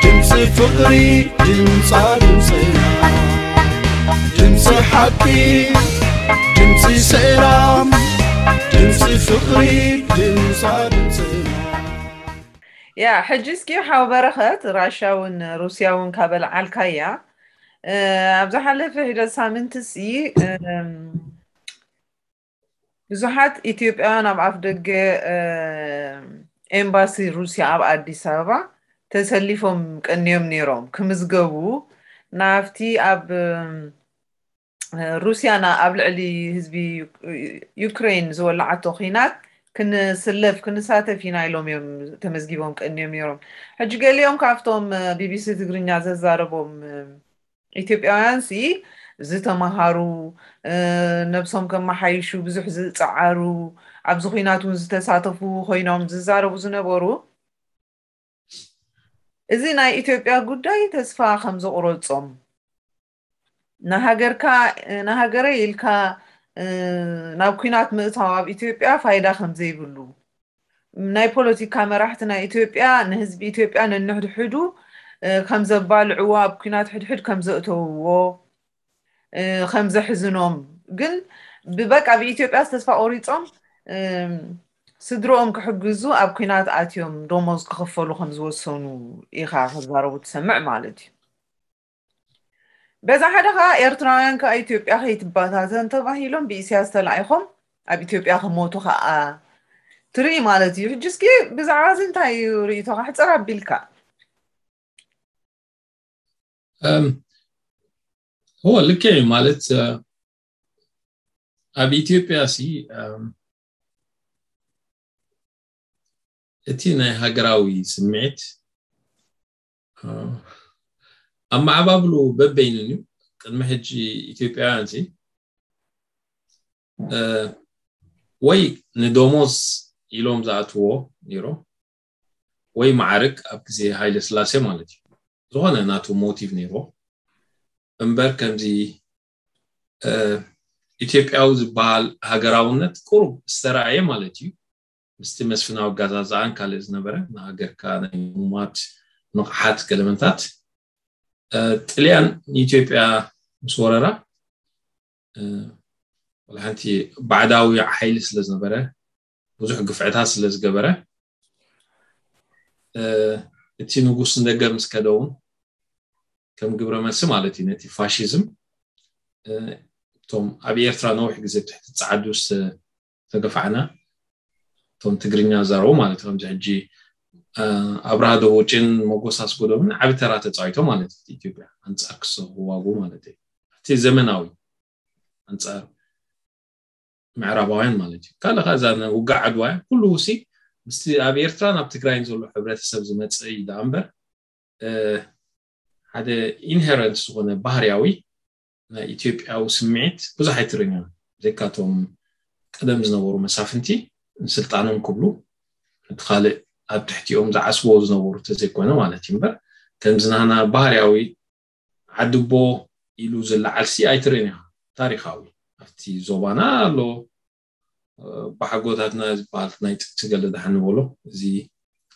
ድምፂ ፍቕሪ ድምፃ ድምፅና፣ ድምፂ ሓቂ ድምፂ ሰላም፣ ድምፂ ፍቕሪ ድምፃ ድምፅና። ያ ሕጂ እስኪ ሓው በረኸት፣ ራሻ እውን ሩስያ እውን ካበልዓልካያ፣ ኣብ ዝሓለፈ ሒደት ሳምንት ሲ ብዙሓት ኢትዮጵያውያን ኣብ ኣፍ ደገ ኤምባሲ ሩስያ ኣብ ኣዲስ ኣበባ ተሰሊፎም ቀንዮም ነይሮም ክምዝገቡ፣ ናብቲ ኣብ ሩስያ ኣብ ልዕሊ ህዝቢ ዩክሬን ዝወላዓቶ ኺናት ክንስለፍ ክንሳተፍ ኢና ኢሎም እዮም ተመዝጊቦም ቀንዮም ነይሮም። ሕጂ ገሊኦም ካብቶም ቢቢሲ ትግርኛ ዘዛረቦም ኢትዮጵያውያን ሲ ዝተምሃሩ፣ ነብሶም ከመሓይሹ ብዙሕ ዝፀዓሩ፣ ኣብዚ ኹናት እውን ዝተሳተፉ ኮይኖም ዝዛረቡ ዝነበሩ፣ እዚ ናይ ኢትዮጵያ ጉዳይ ተስፋ ከም ዘቑረጾም፣ ንሃገርካ ንሃገረይ ኢልካ ናብ ኲናት ምእታው ኣብ ኢትዮጵያ ፋይዳ ከም ዘይብሉ፣ ናይ ፖለቲካ መራሕቲ ናይ ኢትዮጵያ ንህዝቢ ኢትዮጵያ ነንሕድሕዱ ከም ዘባልዕዎ፣ ኣብ ኲናት ሕድሕድ ከም ዘእተውዎ፣ ከም ዘሕዝኖም፣ ግን ብበቃ ብኢትዮጵያ ተስፋ ቆሪጾም ስድርኦም ክሕግዙ ኣብ ኲናት ኣትዮም ደሞዝ ክኽፈሉ ከም ዝወሰኑ ኢኻ ክዛረቡ ትሰምዕ ማለት እዩ። በዛ ሓደ ከዓ ኤርትራውያን ከዓ ኢትዮጵያ ከይትባታተን ተባሂሎም ብኢሳያስ ተላኢኾም ኣብ ኢትዮጵያ ክሞቱ ከዓ ትርኢ ማለት እዩ። ሕጂ እስኪ ብዛዕባ እዚ እንታይ እዩ ርእይቶኻ? ሕፅር ኣቢልካ። እወ፣ ልክዕ እዩ። ማለት ኣብ ኢትዮጵያ ሲ እቲ ናይ ሃገራዊ ስምዒት ኣመዓባብሉ በበይኑን እዩ። ቅድሚ ሕጂ ኢትዮጵያውያን ሲ ወይ ንደሞዝ ኢሎም ዝኣትዎ ነይሮም፣ ወይ ማዕርግ ኣብ ግዜ ሃይለ ስላሴ ማለት እዩ። ዝኾነ ናቱ ሞቲቭ ነይርዎ እምበር ከምዚ ኢትዮጵያዊ ዝበሃል ሃገራውነት ቁሩብ ዝተረኣየ ማለት እዩ። ምስቲ መስፍናዊ ኣጋዛዝኣን ካልእ ዝነበረ ንሃገርካ ናይ ምሙማት ንቕሓት ገለመንታት ጥልያን ንኢትዮጵያ ምስ ወረራ ሓንቲ ባዕዳዊ ሓይሊ ስለ ዝነበረ ብዙሕ ግፍዕታት ስለ ዝገበረ እቲ ንጉስ ንደገ ምስ ከደ እውን ከም ግብረ መልሲ ማለት እዩ ነቲ ፋሽዝም እቶም ኣብ ኤርትራ ነዊሕ ግዜ ብትሕቲ ጸዓዱ ዝተገፋዕና እቶም ትግርኛ ዘረቡ ማለት ከምዚ ሕጂ ኣብርሃ ደቦጭን መጎስ ኣስጎዶምን ዓቢ ተራ ተጻዊቶም ማለት እዩ ኢትዮጵያ ኣንጻር ክሰ ክዋጉ ማለት እዩ እቲ ዘመናዊ ኣንጻር ምዕራባውያን ማለት እዩ ካልእ ከዛ ውጋዕ ዓድዋ ኩሉ ውሲ ምስቲ ኣብ ኤርትራን ኣብ ትግራይን ዘሎ ሕብረተሰብ ዝመጽእ እዩ ደኣ እምበር ሓደ ኢንሄረንት ዝኾነ ባህርያዊ ናይ ኢትዮጵያዊ ስምዒት ብዙሕ ኣይትርእን ኢና ብዘይካቶም ቀደም ዝነበሩ መሳፍንቲ ንስልጣኖም ክብሉ እቲ ካልእ ኣብ ትሕቲኦም ዝዓስቦ ዝነበሩ ተዘይኮነ ማለት እዩ እምበር ከምዚ ናህና ባህርያዊ ዓድቦ ኢሉ ዝለዓልሲ ኣይትርእን ኢኻ ታሪኻዊ ኣብቲ ዞባና ኣሎ ባሓጎታትና ዝበሃል ናይ ጥንቲ ገለ ደሓን ንበሎ እዚ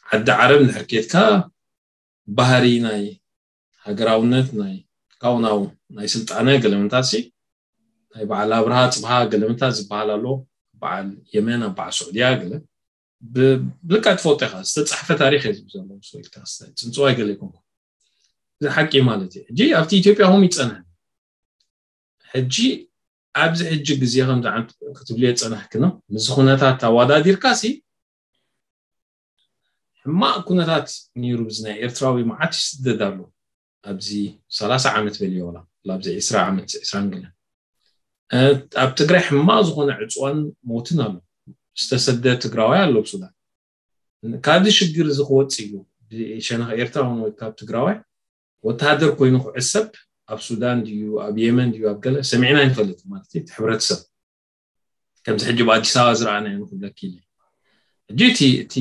ዓዲ ዓረብ እንድሕር ኬድካ ባህሪ ናይ ሃገራውነት ናይ ካውናው ናይ ስልጣነ ገለመንታሲ ናይ በዓል ኣብርሃ ፅብሃ ገለመንታት ዝበሃል ኣሎ በዓል የመን ኣብ በዓል ስዑድያ ገለ ብልካ ትፈልጦ ኢኻ ዝተፃሕፈ ታሪክ እዩ ዝብል ዘሎ ሰው ኢልካ ፅንፅዋይ ገለ ይኮንኩ እዚ ሓቂ ማለት እዩ ሕጂ ኣብቲ ኢትዮጵያ ኹም ይፀንሐ ሕጂ ኣብዚ ሕጂ ግዜ ከምዚ ዓንት ክትብልዮ ዝፀናሕክኖ ምስዚ ኩነታት ኣዋዳዲርካ ሲ ሕማቕ ኩነታት ነይሩ ብዚ ናይ ኤርትራዊ መዓት ይስደድ ኣሎ ኣብዚ ሰላሳ ዓመት በልዮ ወላ ኣብዚ ዕስራ ዓመት ዕስራን ገለን ኣብ ትግራይ ሕማቕ ዝኾነ ዕፅዋን ሞትን ኣሎ ዝተሰደ ትግራዋይ ኣሎ ብሱዳን ካብዚ ሽግር እዚ ክወፅ እዩ ብሸነኽ ኤርትራ ሆነ ወይ ካብ ትግራዋይ ወተሃደር ኮይኑ ክዕሰብ ኣብ ሱዳን ድዩ ኣብ የመን ድዩ ኣብ ገለ ሰሚዕና ይንፈልጥ ማለት እቲ ሕብረተሰብ ከምዚ ሕጂ ብኣዲስ ኣበባ ዝረኣናዮ ንክብለኪ ኢለ ሕጂ እቲ እቲ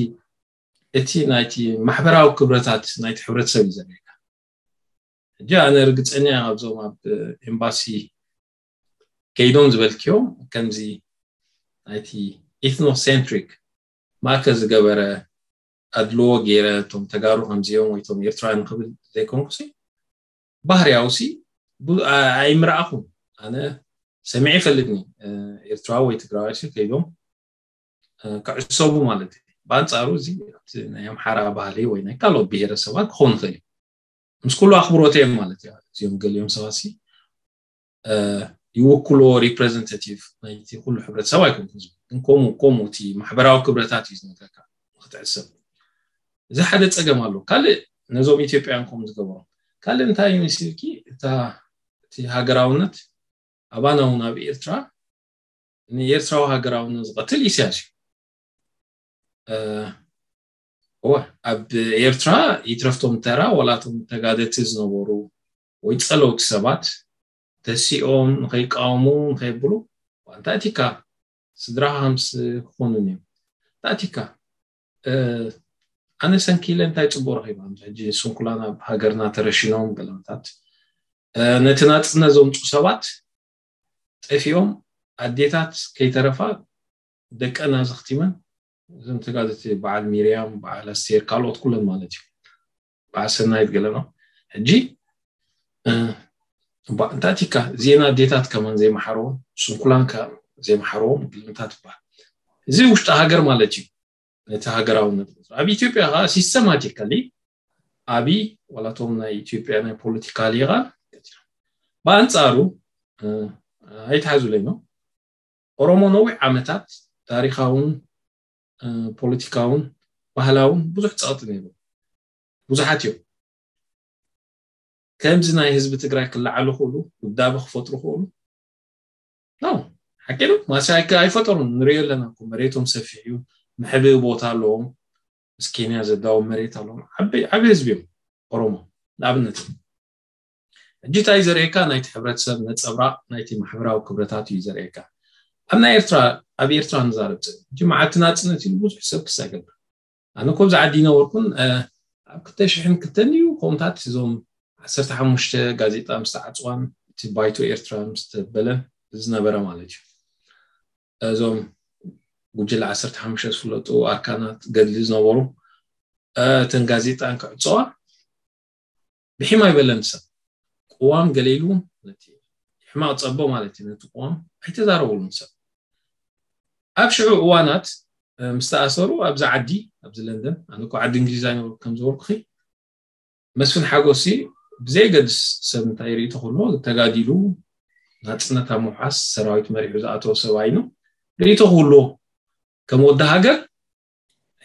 እቲ ናይቲ ማሕበራዊ ክብረታት ናይቲ ሕብረተሰብ እዩ ዘርእየካ ሕጂ ኣነ ርግፀኛ ካብዞም ኣብ ኤምባሲ ከይዶም ዝበልክዮም ከምዚ ናይቲ ኢትኖሴንትሪክ ማእከል ዝገበረ ኣድልዎ ገይረ እቶም ተጋሩ ከምዚኦም ወይ እቶም ኤርትራውያን ክብል ዘይኮንኩሲ፣ ባህርያውሲ ቡ- ኣ- ኣይምረኣኹን። ኣነ ሰሚዐ ይፈልጥኒ። እ፣ ኤርትራዊ ወይ ትግራዋይ ሲ ከይዶም እ፣ ክዕሰቡ ማለት እዩ። ብኣንጻሩ እዚ ኣብቲ ናይ ኣምሓራ ባህሊ ወይ ናይ ካልኦት ብሄረሰባት ክኸውን ይኽእል እዩ። ምስ ኩሉ ኣኽብሮት እዮም ማለት እዩ። እዚኦም ገሊኦም ሰባት ሲ እ፣ ይውክልዎ፣ ሪፕሬዘንታቲቭ ናይቲ ኩሉ ሕብረተሰብ ኣይኮንኩን ዝብል። ግን ከምኡ ከምኡ እቲ ማሕበራዊ ክብረታት እዩ ዝነግረካ ክትዕሰብ። እዚ ሓደ ጸገም ኣሎ። ካልእ ነዞም ኢትዮጵያን ከምኡ ዝገበሮም ካልእ እንታይ እዩ መሲልኪ? እታ እቲ ሃገራውነት ኣባና እውን ኣብ ኤርትራ ንኤርትራዊ ሃገራውነት ዝቐትል ኢሳያስ እዩ። እ፣ እወ፣ ኣብ ኤርትራ ይትረፍቶም ተራ ዋላቶም ተጋደልቲ ዝነበሩ ወይ ጸለውቲ ሰባት ተሲኦም ንኸይቃወሙ ንኸይብሉ እንታይ ቲካ ስድራኻ ከምስ ክኾኑን እዮም እንታይ ቲካ እ፣ ኣነ ሰንኪለ እንታይ ጽቡቅ ረኺባ ሕጂ ስንኩላን ኣብ ሃገርና ተረሽኖም ገለመታት እ፣ ነቲ ናጽነት ዘምፁ ሰባት ጠፊኦም ኣዴታት ከይተረፋ ደቀን ኣዘኽቲመን እዞም ተጋደልቲ በዓል ሚርያም በዓል ኣስቴር ካልኦት ኩለን ማለት እዩ በዓል ሰናይት ገለኖ ሕጂ እ፣ እባ እንታይ ቲካ ዜና ኣዴታት ከማን ዘይመሓረዎም ስንኩላን ከ ዘይመሓረዎም ግልምታት ይበሃል እዚ ውሽጢ ሃገር ማለት እዩ ነቲ ሃገራውነት ኣብ ኢትዮጵያ ከዓ ሲስተማቲካሊ ኣብይ ዋላቶም ናይ ኢትዮጵያ ናይ ፖለቲካ ሊቃን ብኣንፃሩ እ፣ ኣይትሓዙለይ ነው ኦሮሞ ነዊሕ ዓመታት ታሪካውን እ፣ ፖለቲካውን ባህላውን ብዙሕ ፀቕጢ ነይሩ ብዙሓት እዮም ከምዚ ናይ ህዝቢ ትግራይ ክለዓሉ ክእሉ ውዳበ ክፈጥሩ ክእሉ ነው ሓቂ ነው ማሲ ኣይከ- ኣይፈጠሩን ንሪኦ ኣለና እኮ መሬቶም ሰፊሕ እዩ መሕብኢ ቦታ ኣለዎም ምስ ኬንያ ዘዳዎም መሬት ኣለዎም ዓበይ ዓበይ ህዝቢ እዮም ኦሮሞ ንኣብነት ሕጂ እንታይ ዘርእየካ ናይቲ ሕብረተሰብ ነፀብራቕ ናይቲ ማሕበራዊ ክብረታት እዩ ዘርእየካ ኣብ ናይ ኤርትራ ኣብ ኤርትራ ንዛረብ ሕጂ መዓልቲ ናፅነት ኢሉ ብዙሕ ሰብ ክሳገብ ኣነ ኮ ኣብዚ ዓዲ ይነበርኩን ኣብ ክልተ ሽሕን ክልተን እዩ ከምታት እዞም ዓሰርተ ሓሙሽተ ጋዜጣ ምስ ተዓፅዋን እቲ ባይቶ ኤርትራ ምስ ተበለን ዝነበረ ማለት እዩ እዞም ጉጅለ ዓሰርተ ሓሙሽተ ዝፍለጡ ኣርካናት ገድሊ ዝነበሩ እተን ጋዜጣን ክዕፀዋ ብሒም ኣይበለን ሰብ ቅዋም ገለ ኢሉ ነቲ ሕማቕ ፀቦ ማለት እዩ ነቲ ቅዋም ኣይተዛረበሉን ሰብ ኣብ ሽዑ እዋናት እ፣ ምስ ተኣሰሩ ኣብዚ ዓዲ ኣብዚ ለንደን ኣነ እኮ ዓዲ እንግሊዝ ኣይነበርኩ ከም ዝበልኩኺ መስፍን ሓጎሲ ብዘየገድስ ሰብ እንታይ ርእቶ ክህልዎ ተጋዲሉ ናፅነት ኣብ ምውሓስ ሰራዊት መሪሑ ዝኣተወ ሰብ ኣይኑ ርእቶ ክህልዎ ከም ወዲ ሃገር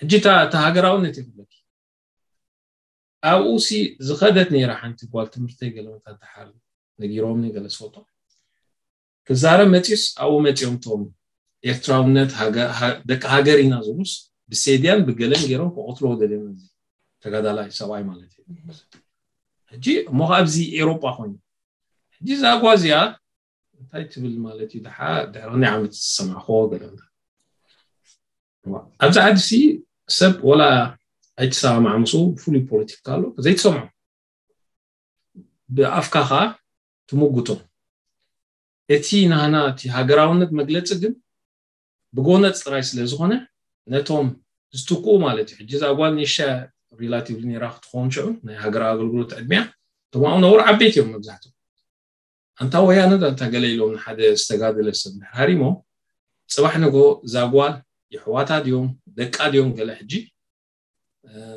ሕጂ እታ እታ ሃገራውነት ይብለኪ ኣብኡ ሲ ዝኸደት ነይራ ሓንቲ ጓል ትምህርተይ ገለ መታተሓር ነጊሮምኒ ገለ ዝፈልጦ ክዛረብ መፂኡስ ኣብኡ መፂኦም ቶም ኤርትራውነት ሃገ- ሃ- ደቂ ሃገር ኢና ዝብሉስ ብሴድያን ብገለን ገይሮም ክቐትልዎ ደልዮም እዚ ተጋዳላይ ሰብኣይ ማለት እዩ ሕጂ እሞ ኣብዚ ኤሮጳ ኮይኑ ሕጂ እዛ ጓ እዚኣ እንታይ ትብል ማለት እዩ ድሓ ድሕሪ ክንደይ ዓመት ዝሰማዕክዎ ገለ ኣብዚ ዓዲ ሲ ሰብ ወላ ኣይትሰማማዕ ምስኡ ፍሉይ ፖለቲካ ኣሎ ዘይትሰምዖ ብኣፍካ ከዓ ትምጉቶም እቲ ናህና እቲ ሃገራውነት መግለፂ ግን ብጎነፅ ጥራይ ስለ ዝኾነ ነቶም ዝትክኡ ማለት እዩ ሕጂ እዛ ጓል ንሻ ሪላቲቭሊ ነራ ክትኸውን ሽዑ ናይ ሃገራዊ ኣገልግሎት ዕድሚያ እቶም ኣብኡ ነብሩ ዓበይቲ እዮም መብዛሕትኦም ኣንታ ወያነ ዶ ኣንታ ገለ ኢሎም ንሓደ ዝተጋደለ ሰብ እንድሕር ሃሪሞ ፅባሕ ንጎ እዛ ጓል የሕዋታ ድዮም ደቃ ድዮም ገለ ሕጂ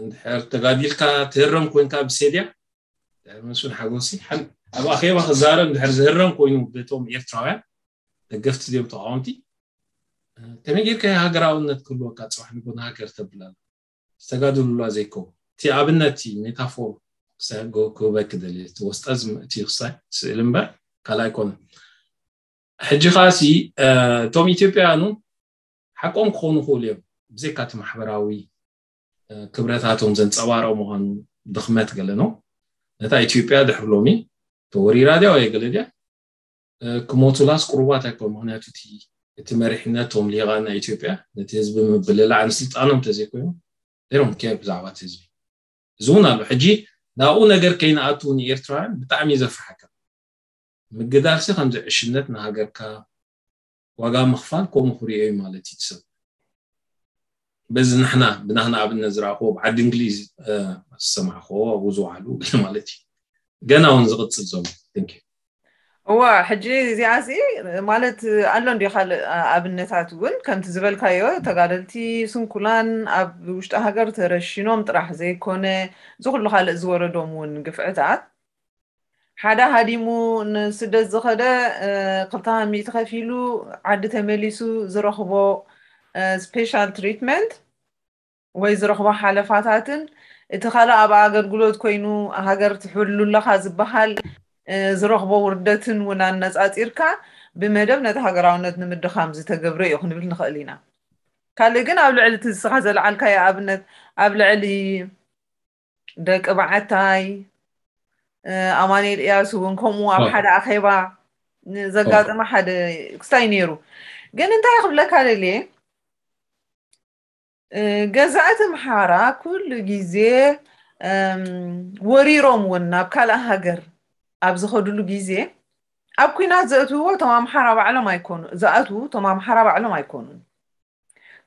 እንድሕር ተጋዲልካ ትህረም ኮንካ ብሴድያ ድሕር መስፍን ሓጎሲ ሓን- ኣብ ኣኼባ ክዛረብ እንድሕር ዝህረም ኮይኑ በቶም ኤርትራውያን ደገፍቲ ድዮም ተቃወምቲ ከመይ ጌርካ ሃገራውነት ክህልወካ ፅባሕ ንጎ ንሃገር ተብላል ዝተጋድሉላ ዘይከው እቲ ኣብነት እቲ ሜታፎር ክበክ ደልየ እቲ ወስጠ ዝምእቲ ክሳይ ስእል እምበር ካልእ ኣይኮነ ሕጂ ከዓ ሲ እቶም ኢትዮጵያውያኑ ሓቆም ክኾኑ ክእሉ እዮም ብዘይካ እቲ ማሕበራዊ ክብረታቶም ዘንፀባረቕ ምዃኑ ድኽመት ገለ ነው ነታ ኢትዮጵያ ድሕር ሎሚ ተወሪራ ድያ ወይ ገለ ድያ ክሞቱላስ ቅሩባት ኣይኮን ምክንያቱ እቲ እቲ መሪሕነቶም ሊቃን ናይ ኢትዮጵያ ነቲ ህዝቢ ምብልላዕ ንስልጣኖም ተዘይኮይኑ ሮም ኬር ብዛዕባ እቲ ህዝቢ እዚ እውን ኣሎ ሕጂ ናብኡ ነገር ከይንኣቱ ንኤርትራውያን ብጣዕሚ እዩ ዘፍርሓካ ምግዳልሲ ከምዚ ዕሽነት ንሃገርካ ዋጋ ምኽፋል ከምኡ ክሪኦ እዩ ማለት እዩ ሰብ በዚ ንሕና ብናህና ኣብነት ዝረኣኽዎ ብዓዲ እንግሊዝ ዝሰማዕኽዎ ኣብኡ ዝወዓሉ ገለ ማለት እዩ። ገና እውን ዝቕፅል ዘሎ። Thank you። እዋ ሕጂ እዚኣ እዚ ማለት ኣሎ እንዲ ካልእ ኣብነታት እውን ከምቲ ዝበልካዮ ተጋደልቲ ስንኩላን ኣብ ውሽጢ ሃገር ተረሽኖም ጥራሕ ዘይኮነ እዚ ኩሉ ካልእ ዝወረዶም እውን ግፍዕታት ሓደ ሃዲሙ ንስደት ዝኸደ ክልተ ሚእቲ ከፊሉ ዓዲ ተመሊሱ ዝረኽቦ special treatment ወይ ዝረኽቦ ሓለፋታትን እቲ ካልእ ኣብ ኣገልግሎት ኮይኑ ሃገር ትሕሉ ኣለኻ ዝበሃል ዝረኽቦ ውርደትን እውን ኣነፃፂርካ ብመደብ ነቲ ሃገራውነት ንምድኻም ዝተገብረ እዩ ክንብል ንኽእል ኢና። ካልእ ግን ኣብ ልዕሊ እቲ ንስኻ ዘልዓልካዮ ኣብነት ኣብ ልዕሊ ደቂ በዓታይ ኣማኑኤል እያሱ እውን ከምኡ ኣብ ሓደ ኣኼባ ዘጋጠመ ሓደ ክስታይ ነይሩ። ግን እንታይ ክብለካ ደልየ ገዛእቲ ኣምሓራ ኩሉ ግዜ ወሪሮም እውን ናብ ካልእ ሃገር ኣብ ዝኸድሉ ግዜ ኣብ ኲናት ዘእትውዎ እቶም ኣምሓራ ባዕሎም ኣይኮኑ ዝኣትዉ እቶም ኣምሓራ ባዕሎም ኣይኮኑን።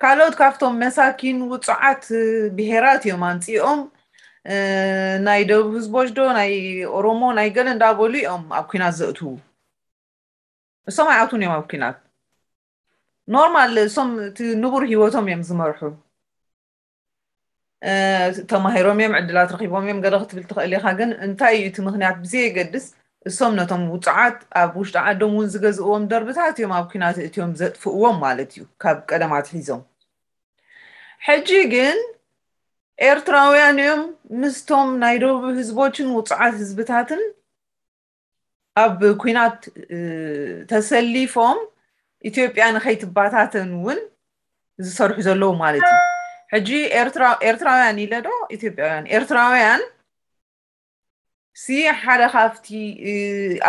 ካልኦት ካብቶም መሳኪን ውፁዓት ብሄራት እዮም ኣምፂኦም። ናይ ደቡብ ህዝቦች ዶ ናይ ኦሮሞ ናይ ገለ እንዳበሉ እዮም ኣብ ኲናት ዘእትዉ። እሶም ኣይኣትዉን እዮም ኣብ ኲናት። ኖርማል እሶም እቲ ንቡር ህይወቶም እዮም ዝመርሑ። ተማሂሮም እዮም፣ ዕድላት ረኺቦም እዮም ገለ ክትብል ትኽእል ኢኻ። ግን እንታይ እዩ እቲ ምኽንያት ብዘየገድስ እሶም ነቶም ውፁዓት ኣብ ውሽጢ ዓዶም እውን ዝገዝእዎም ደርብታት እዮም ኣብ ኲናት እትዮም ዘጥፍእዎም ማለት እዩ ካብ ቀደም ኣትሒዞም። ሕጂ ግን ኤርትራውያን እዮም ምስቶም ናይ ደቡብ ህዝቦችን ውፁዓት ህዝብታትን ኣብ ኲናት ተሰሊፎም ኢትዮጵያ ንኸይትባታተን እውን ዝሰርሑ ዘለዉ ማለት እዩ። ሕጂ ኤርትራውያን ኢለ ዶ ኢትዮጵያውያን ኤርትራውያን ሲ ሓደ ካብቲ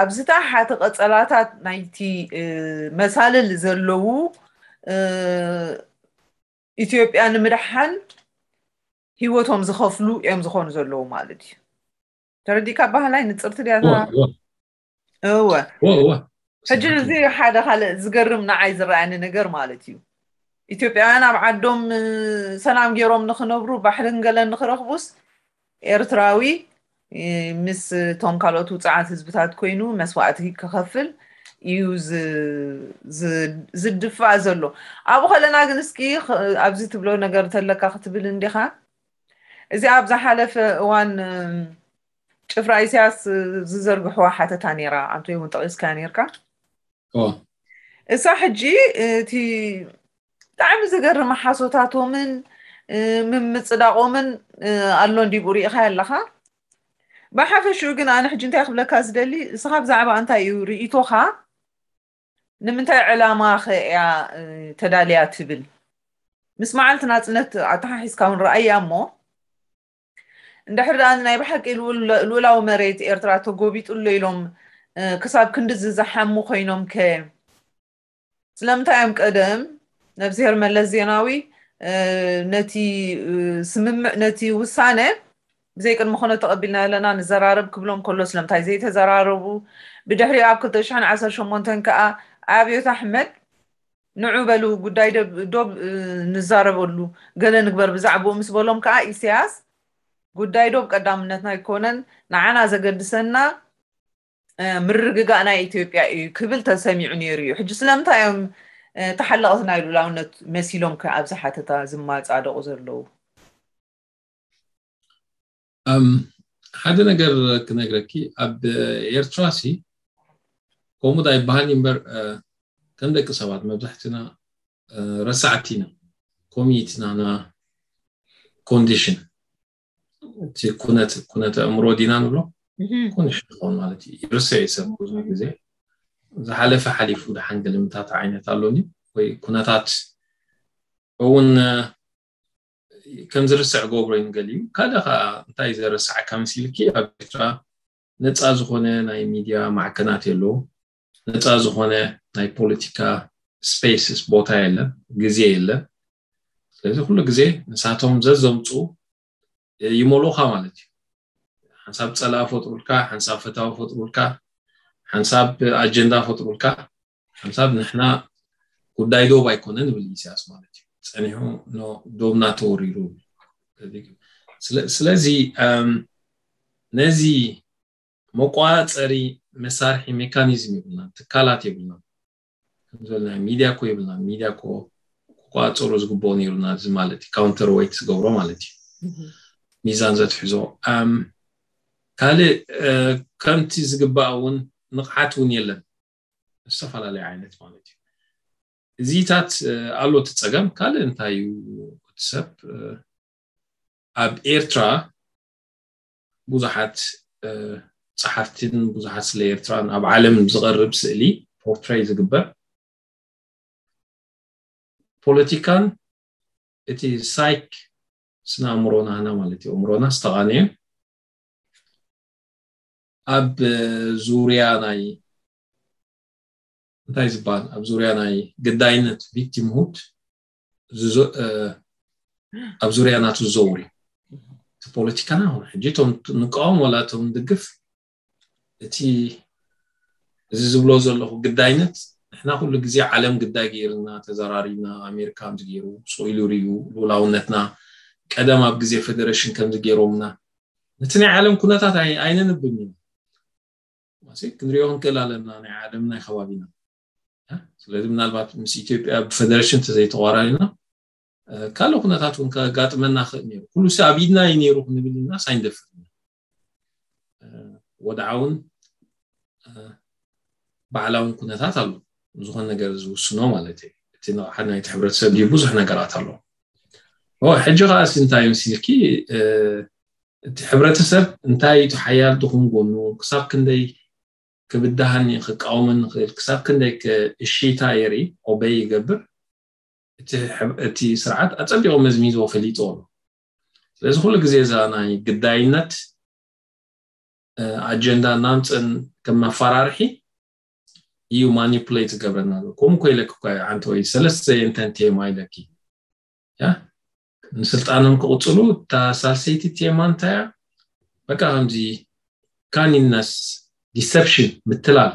ኣብ ዝተሓተ ቀፀላታት ናይቲ መሳልል ዘለዉ ኢትዮጵያ ንምድሓን ህይወቶም ዝኸፍሉ እዮም ዝኾኑ ዘለዉ ማለት እዩ። ተረዲእካ ባህላይ ንፅርቲ ድያ እወ። ሕጂ እዚ ሓደ ካልእ ዝገርም ንዓይ ዝረኣየኒ ነገር ማለት እዩ። ኢትዮጵያውያን ኣብ ዓዶም ሰላም ገይሮም ንክነብሩ ባሕርን ገለን ንክረኽቡስ ኤርትራዊ ምስ እቶም ካልኦት ውፅዓት ህዝብታት ኮይኑ መስዋእቲ ክኸፍል እዩ ዝድፋእ ዘሎ። ኣብኡ ከለና ግን እስኪ ኣብዚ ትብሎ ነገር ተለካ ክትብል እንዲኻ። እዚ ኣብ ዝሓለፈ እዋን ጭፍራ ኢሳያስ ዝዘርግሕዋ ሓተታ ነይራ፣ ኣንተ እውን ጠቒስካ ነይርካ። እሳ ሕጂ እቲ ብጣዕሚ ዝገርም ሓሶታቶምን ምምፅዳቖምን ኣሎ እንዲብኡ ሪኢኻ ኣለኻ። ብሓፈሽኡ ግን ኣነ ሕጂ እንታይ ክብለካ ዝደሊ፣ እስኻ ብዛዕባ እንታይ እዩ ርእይቶኻ? ንምንታይ ዕላማ ከ እያ ተዳልያ ትብል? ምስ መዓልቲ ናፅነት ኣተሓሒዝካ እውን ረኣያ እሞ እንድሕር ደኣ ናይ ብሓቂ ልኡላዊ መሬት ኤርትራ ተጎቢጡ ኣሎ ኢሎም ክሳብ ክንድዚ ዝሓሙ ኮይኖም ከ ስለምንታይ እዮም ቀደም ነብስሄር መለስ ዜናዊ ነቲ ስምምዕ ነቲ ውሳነ ብዘይ ቅድሚ ኩነት ተቐቢልና ኣለና ንዘራረብ ክብሎም ከሎ ስለምንታይ ዘይተዘራረቡ? ብድሕሪ ኣብ ክልተ ሽሕን ዓሰርተ ሸሞንተን ከኣ ኣብዮት ኣሕመድ ንዑ በሉ ጉዳይ ዶብ ንዛረበሉ ገለ ንግበር ብዛዕባኡ ምስ በሎም ከኣ ኢሳያስ ጉዳይ ዶብ ቀዳምነትና ኣይኮነን፣ ንዓና ዘገድሰና ምርግጋእ ናይ ኢትዮጵያ እዩ ክብል ተሰሚዑ ነይሩ እዩ። ሕጂ ስለምንታይ እዮም ተሓለቕቲ ናይ ሉላውነት መሲሎም ከ ኣብዚ ሓተታ ዝማጻደቑ ዘለዉ? ሓደ ነገር ክነግረኪ፣ ኣብ ኤርትራ ሲ ከምኡ ዳ ይበሃል እምበር ከም ደቂ ሰባት መብዛሕትና ረሳዕቲ ኢና። ኮሚትናና ኮንዲሽን እቲ ኩነት ኩነተ ኣእምሮ ዲና ንብሎ ኮንዲሽን ይኸውን ማለት እዩ። ይርስዕ እዩ ሰብ ብዙሕ ግዜ ዝሓለፈ ሓሊፉ ደሓን ግልምታት ዓይነት ኣሎኒ ወይ ኩነታት እውን ከም ዝርስዕ ገብሮ እዩ ንገሊኡ። ካልእ ከዓ እንታይ ዘረስዓካ መሲልኪ ኣብ ኤርትራ ነፃ ዝኾነ ናይ ሚድያ ማዕከናት የለዉ። ነፃ ዝኾነ ናይ ፖለቲካ ስፔስስ ቦታ የለን፣ ግዜ የለን። ስለዚ ኩሉ ግዜ ንሳቶም ዘዘምፁ ይመልኡኻ ማለት እዩ። ሓንሳብ ፀላኢ ፈጥሩልካ፣ ሓንሳብ ፈታዊ ፈጥሩልካ፣ ሓንሳብ ኣጀንዳ ፈጥሩልካ፣ ሓንሳብ ንሕና ጉዳይ ዶብ ኣይኮነን ይብል ኢሳያስ ማለት እዩ። ጸኒሑ፣ ዶብና ተወሪሩ። ስለዚ ነዚ መቋፀሪ መሳርሒ ሜካኒዝም የብልና፣ ትካላት የብልና። ከምዝበልና ሚድያ ኮ የብልና። ሚድያ ኮ ክቋፀሩ ዝግብኦ ነይሩና፣ እዚ ማለት counter weight ዝገብሮ ማለት እዩ፣ ሚዛን ዘትሕዞ። ካልእ ከምቲ ዝግባእ እውን ንቕሓት እውን የለን፣ ዝተፈላለዩ ዓይነት ማለት እዩ። እዚታት ኣሎ እቲ ፀገም። ካልእ እንታይ እዩ? እቲ ሰብ ኣብ ኤርትራ ብዙሓት ጸሓፍትን ብዙሓት ስለ ኤርትራን ኣብ ዓለም ዝቐርብ ስእሊ ፖርትሬይ ዝግበር፣ ፖለቲካን እቲ ሳይክ ስነ ኣእምሮና ህና ማለት እዩ፣ ኣእምሮና ዝተቓነየ ኣብ ዙርያ ናይ እንታይ ዝበሃል ኣብ ዙርያ ናይ ግዳይነት ቪክቲምሁድ ኣብ ዙርያ ናቱ ዝዘውር እዩ። እቲ ፖለቲካና ሆነ ሕጂ እቶም ንቃወም ዋላ እቶም ንድግፍ እቲ እዚ ዝብሎ ዘለኹ ግዳይነት ንሕና ኩሉ ግዜ ዓለም ግዳይ ገይርና ተዘራሪብና ኣሜሪካ ከምዚ ገይሩ ስቕ ኢሉ ርዩ ልኡላውነትና ቀደም ኣብ ግዜ ፌደሬሽን ከምዚ ገይሮምና ነቲ ናይ ዓለም ኩነታት ኣይነንብን እዩ ክንሪኦ ክንክእል ኣለና ናይ ዓለም ናይ ከባቢና ስለዚ ምናልባት ምስ ኢትዮጵያ ብፌደሬሽን ተዘይተቋራሪና ካልእ ኩነታት እውን ከጋጥመና ክእል ነይሩ ኩሉ ሲ ኣብ ኢድና እዩ ነይሩ ክንብል ኢና ሳይንደፍር ወድዓውን ባዕላውን ኩነታት ኣሎ ዝኾነ ነገር ዝውስኖ ማለት እዩ እቲ ንቕሓት ናይቲ ሕብረተሰብ ድዩ ብዙሕ ነገራት ኣሎ ሕጂ ከዓ ሲ እንታይ ምስልኪ እቲ ሕብረተሰብ እንታይ እቲ ሓያል ድኹም ጎኑ ክሳብ ክንደይ ክብድሃኒ ክቃወመኒ ክእል ክሳብ ክንደይ እሺታ የርኢ ኦበይ ይገብር እቲ ስርዓት ኣፀቢቑ መዝሚዝዎ ፈሊጥዎ ኣሎ ስለዚ ኩሉ ግዜ እዛ ናይ ግዳይነት ኣጀንዳ እናምፅን ከም መፈራርሒ እዩ ማኒፕሌት ዝገብረና ከምኡ ኮ ኢለክ ዓንተ ወይ ሰለስተ የንተን ቴማ ኢለኪ ንስልጣኖም ክቕፅሉ እታ ሳልሰይቲ ቴማ እንታያ በቃ ከምዚ ካኒነስ ዲሰፕሽን ምትላል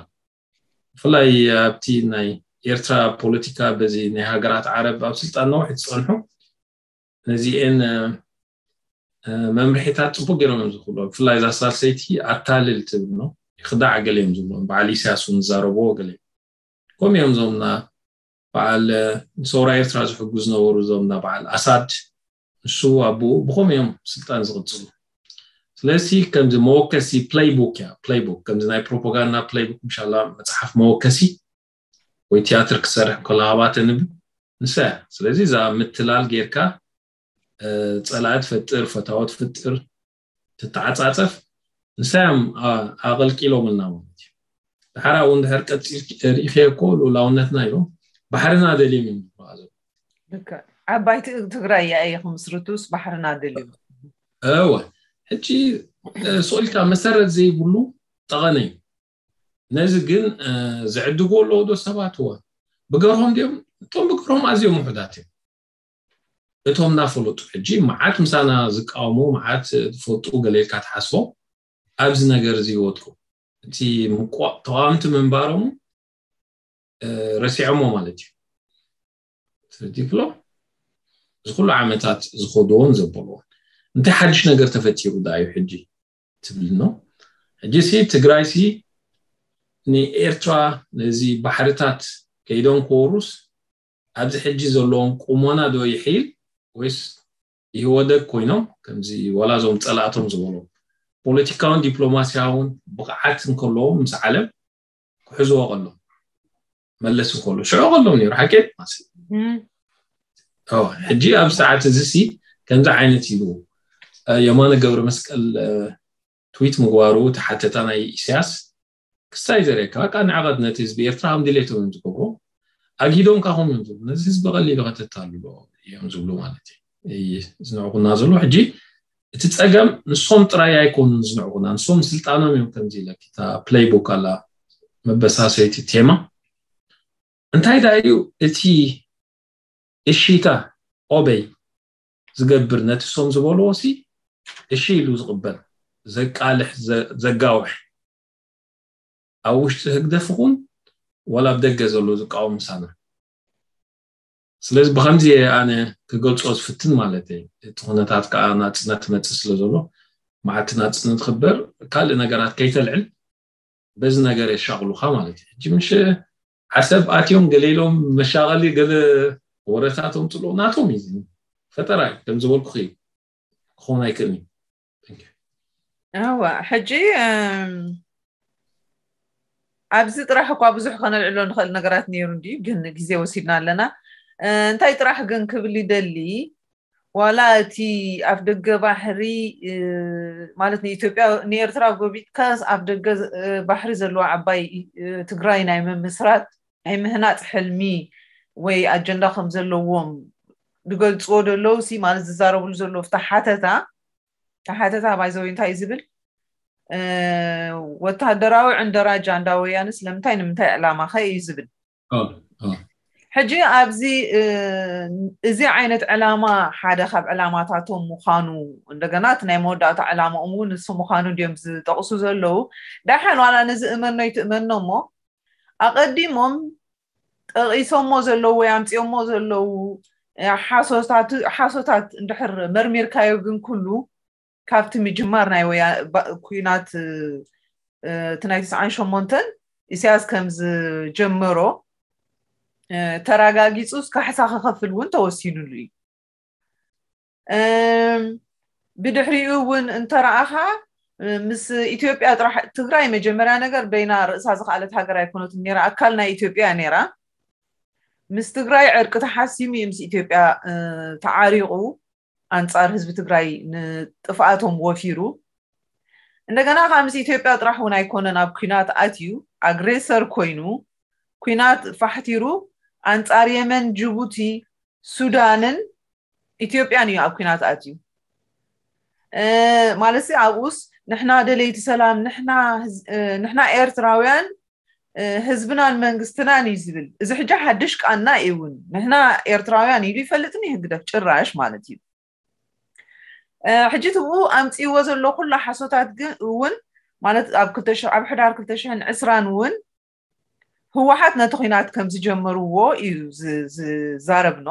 ብፍላይ ኣብቲ ናይ ኤርትራ ፖለቲካ በዚ ናይ ሃገራት ዓረብ ኣብ ስልጣን ነውሒ ዝፀንሑ ነዚኤን መምርሒታት ፅቡቅ ገይሮም እዮም ዝኽእሉ ብፍላይ እዛ ሳልሰይቲ ኣታልል ትብል ነው ይክዳዕ ገለ እዮም ዝብሎ በዓል ኢሳያስ እውን ዝዛረብዎ ገለ ከምኡ እዮም እዞምና በዓል ንሰውራ ኤርትራ ዝሕጉ ዝነበሩ እዞምና በዓል ኣሳድ ንሱ ኣቦኡ ብኸምኡ እዮም ስልጣን ዝቕፅሉ ስለዚ ከምዚ መወከሲ ፕለይቡክ እያ ፕለይቡክ ከምዚ ናይ ፕሮፓጋንዳ ፕለይቡክ ምሻላ መፅሓፍ መወከሲ ወይ ቲያትር ክሰርሕ ከሎ ሃባተ ንብል ንሳ እያ ስለዚ እዛ ምትላል ጌርካ ፀላኢ ትፈጥር ፈታዎ ትፍጥር ትተዓፃፀፍ ንሳዮም ኣቐልቂሎምልና ማለት እዩ ድሓር ኣብኡ እንድሕር ቀፂል ርኢኸ እኮ ልኡላውነትና ኢሎም ባሕርና ደልዮም እዮም ዝበሃሉ ዓባይ ትግራይ እያ እየ ክምስርቱስ ባሕርና ደልዮም እወ ሕጂ ስቕ ኢልካ መሰረት ዘይብሉ ጠቐነ እዩ ነዚ ግን ዝዕድጎ ኣለዎ ዶ ሰባት እወ ብገርሆም ድዮም እቶም ብገርሆም ኣዝዮም ውሑዳት እዮም እቶም እናፈለጡ ሕጂ መዓት ምሳና ዝቃወሙ መዓት ዝፈልጡ ገሌልካ ትሓስቦ ኣብዚ ነገር እዚ ይወድቁ እቲ ተቃወምቲ ምንባሮም ረሲዖሞ ማለት እዩ ስለዚ ክሎ እዚ ኩሉ ዓመታት ዝኸድዎን ዘበልዎን እንታይ ሓድሽ ነገር ተፈጢሩ ዳ እዩ ሕጂ ትብል ነው ሕጂ ሲ ትግራይ ሲ ንኤርትራ ነዚ ባሕርታት ከይዶም ክወሩስ ኣብዚ ሕጂ ዘለዎም ቁሞና ዶ ይሕይል ወይስ ይህወደግ ኮይኖም ከምዚ ዋላ እዞም ፀላእቶም ዝበሎም ፖለቲካውን ዲፕሎማሲያውን ብቕዓት እንከለዎም ምስ ዓለም ክሕዝዎ ከሎም መለስ እንከሎ ሽዑ ከሎም ነይሩ ሓቂ ሕጂ ኣብ ሰዓት እዚ ሲ ከምዚ ዓይነት ኢሉ የማነ ገብረ መስቀል ትዊት ምግባሩ ተሓተታ ናይ ኢሳያስ ክስታይ ዘርእየካ በቃ ንዕቐት ነቲ ህዝቢ ኤርትራ ከም ድሌቶም እዮም ዝገብሩ ኣግሂዶም ካኹም እዮም ዝብሉ ነዚ ህዝቢ ቀሊሉ ከተታሉ እዮም ዝብሉ ማለት እዩ ዝንዕቁና ዘሎ ሕጂ እቲ ፀገም ንሶም ጥራይ ኣይኮኑን ዝንዕቁና ንሶም ስልጣኖም እዮም ከምዚ ኢለኪ እታ ፕለይቡክ ኣላ መበሳሰይቲ ቴማ እንታይ ዳ እዩ እቲ እሺታ ኦበይ ዝገብር ነቲ ሶም ዝበልዎ ሲ እሺ ኢሉ ዝቕበል ዘቃልሕ ዘጋውሕ ኣብ ውሽጢ ህግደፍ ኹን ወላ ኣብ ደገ ዘሎ ዝቃወም ምሳና ስለዚ ብከምዚ እየ ኣነ ክገልጾ ዝፍትን ማለት እየ። እቲ ኩነታት ከዓ ናጽነት መጽእ ስለ ዘሎ፣ መዓልቲ ናጽነት ክበር ካልእ ነገራት ከይተልዕል በዚ ነገር የሻቕሉካ ማለት እዩ። ሕጂ ምሽ ዓሰብ ኣትዮም ገለ ኢሎም መሻቐሊ ገለ ወረታት ኣምፅሉ ናቶም እዩ። ፈጠራ እዩ፣ ከም ዝበልኩ እዩ፣ ክኸውን ኣይክእልን እዩ። Thank you። እዋ ሕጂ እም፣ ኣብዚ ጥራሕ እኳ ብዙሕ ከነልዕሎ ንኽእል ነገራት ነይሩ እንዲ፣ ግን ግዜ ወሲድና ኣለና። እ፣ እንታይ ጥራሕ ግን ክብል ይደሊ፣ ዋላ እቲ ኣፍ ደገ ባሕሪ እ፣ ማለት ንኢትዮጵያ ንኤርትራ ጎቢጥካስ ኣፍ ደገ እ፣ ባሕሪ ዘለዋ ዓባይ እ፣ ትግራይ ናይ ምምስራት ናይ ምህናፅ ሕልሚ ወይ ኣጀንዳ ከም ዘለዎም ዝገልፅዎ ዘለዉ ሲ ማለት ዝዛረብሉ ዘለዉ ፍታ ሓተታ ሓተታ ባይዘዊ እንታይ እዩ ዝብል እ፣ ወታደራዊ ዕንደራ ጃንዳ ወያንስ ለምንታይ ንምንታይ ዕላማ ከ እዩ ዝብል ሕጂ ኣብዚ እዚ ዓይነት ዕላማ ሓደ ካብ ዕላማታቶም ምዃኑ እንደገና እቲ ናይ መወዳእታ ዕላማኦም እውን ንሱ ምዃኑ እንዲዮም ዝጠቕሱ ዘለዉ። ዳሓን ዋላ ነዚ እመኖ ይትእመኖ እሞ ኣቐዲሞም ጠቒሶሞ ዘለዉ ወይ ኣምፂኦሞ ዘለዉ ሓሶታት እንድሕር መርሚርካዮ ግን ኩሉ ካብቲ ምጅማር ናይ ወያ ኩናት እቲ ናይ ትስዓን ሸሞንተን ኢሳያስ ከም ዝጀመሮ ተረጋጊፁ ካሕሳ ክኸፍል እውን ተወሲኑሉ እዩ። ብድሕሪኡ እውን እንተረኣኻ ምስ ኢትዮጵያ ጥራሕ ትግራይ መጀመርያ ነገር በይና ርእሳ ዝኸኣለት ሃገር ኣይኮነትን ነራ፣ ኣካል ናይ ኢትዮጵያ ነራ። ምስ ትግራይ ዕርቂ ተሓሲሙ እዩ ምስ ኢትዮጵያ ተዓሪቑ ኣንጻር ህዝቢ ትግራይ ንጥፍኣቶም ወፊሩ። እንደገና ከዓ ምስ ኢትዮጵያ ጥራሕ እውን ኣይኮነን ኣብ ኩናት ኣትዩ ኣግሬሰር ኮይኑ ኩናት ፋሕቲሩ ኣንጻር የመን፣ ጅቡቲ፣ ሱዳንን ኢትዮጵያን እዩ ኣብ ኩናት ኣትዩ። ማለት ኣብኡስ ንሕና ደለይቲ ሰላም፣ ንሕና ኤርትራውያን ህዝብናን መንግስትናን እዩ ዝብል። እዚ ሕጂ ሓድሽ ቃና እዩ እውን። ንሕና ኤርትራውያን ኢሉ ይፈልጥን ይህግደፍ ጭራሽ ማለት እዩ። ሕጂ ትብኡ ኣምፅዎ ዘሎ ኩላ ሓሶታት ግን እውን ማለት ኣብ ኣብ ሕዳር ክልተ ሽሕን ዕስራን እውን ህወሓት ነቲ ኩናት ከም ዝጀመርዎ እዩ ዝዛረብኖ።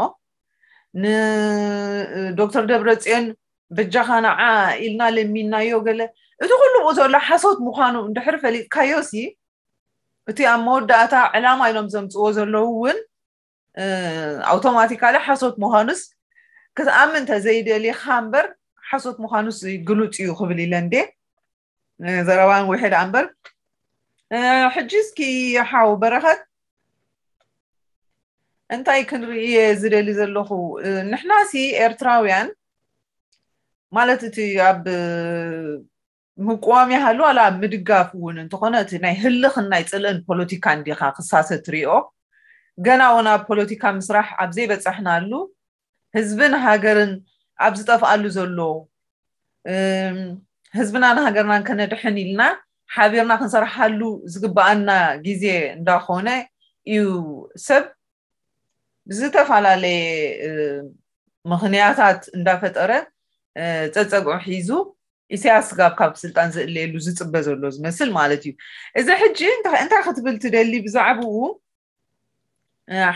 ንዶክተር ደብረፅዮን በጃኻ ንዓ ኢልና ለሚናዮ ገለ፣ እቲ ኩሉ ብኡ ዘሎ ሓሶት ምዃኑ እንድሕር ፈሊጥካዮ ሲ እቲ ኣብ መወዳእታ ዕላማ ኢሎም ዘምፅዎ ዘለዉ እውን ኣውቶማቲካሊ ሓሶት ምዃኑስ ክትኣምን እንተዘይደሊኻ እምበር ሓሶት ምዃኑስ ግሉፅ እዩ ክብል ኢለ እንዴ። ዘረባን ውሕድ እምበር ሕጂ እስኪ ሓው በረኸት እንታይ ክንርኢ እየ ዝደሊ ዘለኹ? ንሕናሲ ኤርትራውያን ማለት እቲ ኣብ ምቁዋም ይሃሉ ዋላ ኣብ ምድጋፍ እውን እንተኾነ እቲ ናይ ህልኽን ናይ ፅልእን ፖለቲካ እንዲኻ ክሳሰ ትሪኦ። ገና እውን ኣብ ፖለቲካ ምስራሕ ኣብ ዘይበፃሕናሉ ህዝብን ሃገርን ኣብ ዝጠፍኣሉ ዘሎ ህዝብናን ሃገርናን ከነድሕን ኢልና ሓቢርና ክንሰርሓሉ ዝግበኣና ግዜ እንዳኾነ እዩ ሰብ ብዝተፈላለየ ምኽንያታት እንዳፈጠረ ፀፀግዑ ሒዙ ኢሳያስ ጋብ ካብ ስልጣን ዝእለየሉ ዝፅበ ዘሎ ዝመስል ማለት እዩ። እዚ ሕጂ እንታይ ክትብል ትደሊ ብዛዕባኡ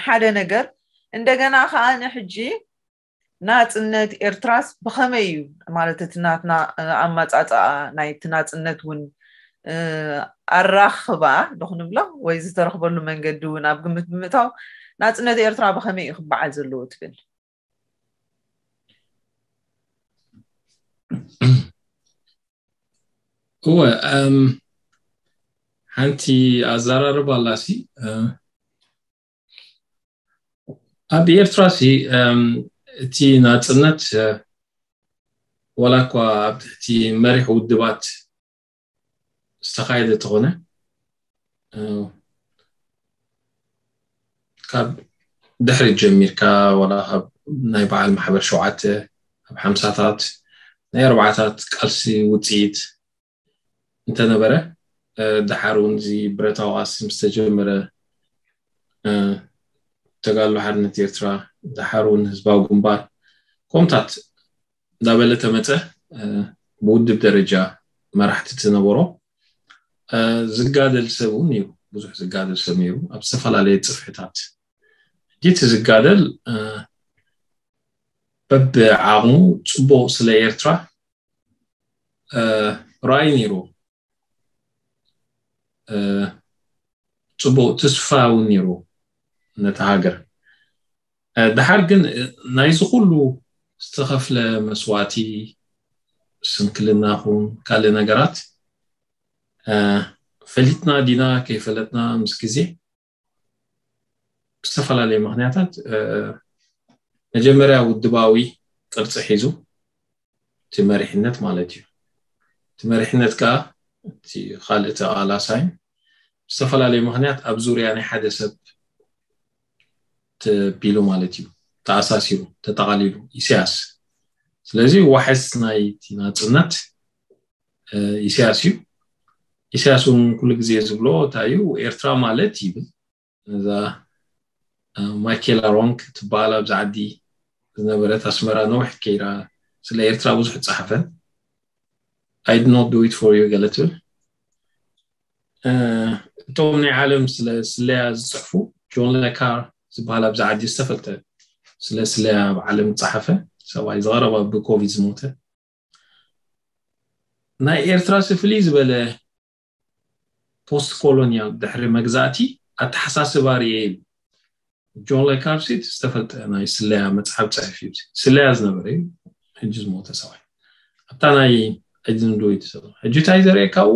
ሓደ ነገር እንደገና ከዓ ንሕጂ ናፅነት ኤርትራስ ብኸመይ እዩ ማለት እቲ ናትና ኣመፃፅኣ ናይቲ ናፅነት እውን ኣራኽባ ዶ ክንብሎ ወይ ዝተረኽበሉ መንገዲ እውን ኣብ ግምት ብምእታው ናፅነት ኤርትራ ብኸመይ እዩ ክበዓል ዘለዎ ትብል? እወ እም፣ ሓንቲ ኣዘራርባ ኣላሲ እ፣ ኣብ ኤርትራ ሲ እም፣ እቲ ናፅነት እ፣ ዋላ እኳ ኣብ ትሕቲ መሪሕ ውድባት ዝተኻየደ ተኾነ እ፣ ካብ ድሕሪት ጀሚርካ ዋላ ካብ ናይ በዓል ማሕበር ሸውዓተ ኣብ ሓምሳታት ናይ ኣርባዓታት ቃልሲ ውፅኢት እንተነበረ እ፣ ደሓር እውን እዚ ብረታዊ ቃልሲ ምስ ተጀመረ እ፣ ተጋድሎ ሓርነት ኤርትራ ደሓር እውን ህዝባዊ ግንባር ከምኡታት እንዳበለ ተመፀ እ፣ ብውድብ ደረጃ መራሕቲ ዝነበሮ እ፣ ዝጋደል ሰብ እውን እዩ። ብዙሕ ዝጋደል ሰብ ነይሩ ኣብ ዝተፈላለየ ፅፍሕታት። እቲ ዝጋደል በብዓቕሙ ጽቡቕ ስለ ኤርትራ ራእይ ነይሩ። ጽቡቕ ተስፋ እውን ነይሩ ነታ ሃገር። ድሓር ግን ናይዚ ኩሉ ዝተኸፍለ መስዋእቲ፣ ስንክልና ኹን ካልእ ነገራት ፈሊጥና ዲና ከይፈለጥና ምስ ግዜ ብዝተፈላለየ ምኽንያታት መጀመርያ ውድባዊ ቅርፂ ሒዙ እቲ መሪሕነት ማለት እዩ። እቲ መሪሕነት ከዓ እቲ ካልእ ተቓላሳይ ብዝተፈላለየ ምኽንያት ኣብ ዙርያ ናይ ሓደ ሰብ ተቢሉ ማለት እዩ፣ ተኣሳሲሩ፣ ተጠቓሊሉ። ኢሳያስ ስለዚ ዋሕስ ናይ ናፅነት ኢሳያስ እዩ። ኢሳያስ እውን ኩሉ ግዜ ዝብሎ እንታይ እዩ? ኤርትራ ማለት ይብል፣ እዛ ማይኬላ ሮንክ ትበሃል ኣብዚ ዓዲ ዝነበረት ኣስመራ ነዊሕ ከይራ ስለ ኤርትራ ብዙሕ ጸሓፈ። I did not do it for you ገለ ትብል። እቶም ናይ ዓለም ስለ ስለያ ዝጽሕፉ፣ ጆን ለካር ዝበሃል ኣብዚ ዓዲ ዝተፈልጠ ስለ ስለያ ኣብ ዓለም ዝጸሓፈ ሰብኣይ፣ ዝቐረባ ብኮቪድ ዝሞተ፣ ናይ ኤርትራ ፍልይ ዝበለ ፖስት ኮሎኒያል ድሕሪ መግዛእቲ ኣተሓሳስባ ርእየ ኢሉ። ጆን ለካር ዝተፈልጠ ናይ ስለያ መጽሓፍ ጸሐፊ እዩ። ስለያ ዝነበረ እዩ፣ ሕጂ ዝሞተ ሰብኣይ። ኣብታ ናይ ሕጂ ንዶ ይትሰብ ሕጂ እንታይ ዘርእየካ ኣብኡ?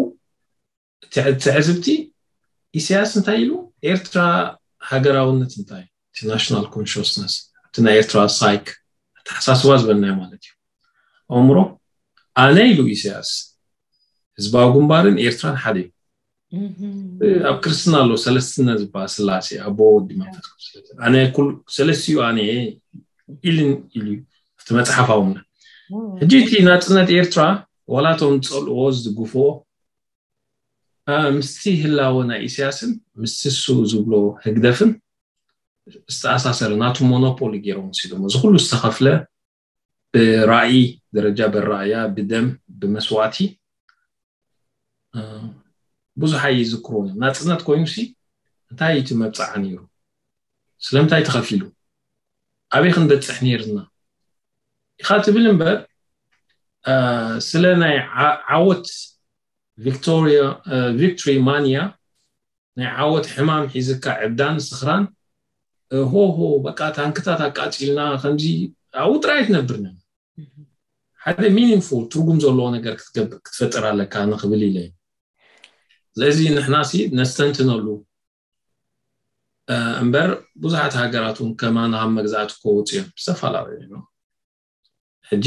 ትዕዝብቲ ኢሳያስ እንታይ ኢሉ? ኤርትራ ሃገራውነት እንታይ? እቲ ናሽናል ኮንሽስነስ፣ እቲ ናይ ኤርትራ ሳይክ ኣተሓሳስባ ዝበልናዮ ማለት እዩ። ኣእምሮ ኣነ ኢሉ ኢሳያስ፣ ህዝባዊ ግንባርን ኤርትራን ሓደ እዩ። ኣብ ክርስትና ኣሎ ሰለስትነ ዝበሃል፣ ስላሴ፣ ኣቦ፣ ወዲ፣ መንፈስ ቅዱስ። ኣነ ኩሉ ሰለስቲኡ ኣነ እየ ኢልን ኢሉ እዩ ኣብቲ መጽሓፍ ኣውና። ሕጂ እቲ ናጽነት ኤርትራ ዋላ እቶም ዝጸልእዎ ዝድግፍዎ ምስቲ ህላወ ናይ ኢሳያስን ምስቲ እሱ ዝብሎ ህግደፍን ዝተኣሳሰረ ናቱ ሞኖፖሊ ገይሮም ወሲዶም። እዚ ኩሉ ዝተኸፍለ ብራእይ ደረጃ፣ በራእያ፣ ብደም፣ ብመስዋእቲ ብዙሕ ኣይዝክሮን እዮም። ናፅነት ኮይኑሲ እንታይ እቲ መብፃዓ ነይሩ? ስለምንታይ ተኸፊሉ? ኣበይ ክንበፅሕ ነይርና ኢኻ ትብል እምበር ስለ ናይ ዓወት ቪክቶሪያ ቪክቶሪ ማንያ ናይ ዓወት ሕማም ሒዝካ ዕብዳን ስኽራን ሆሆ በቃ ታንክታት ኣቃፂልና ከምዚ ኣብኡ ጥራይ ትነብር ነ ሓደ ሚኒንፉል ትርጉም ዘለዎ ነገር ክትፈጥር ኣለካ ንክብል ኢለ። ስለዚ ንሕና ሲ ነስተንትነሉ እምበር ብዙሓት ሃገራት እውን ከማና ካብ መግዛእቲ ክወፁ እዮም ዝተፈላለዩ ሕጂ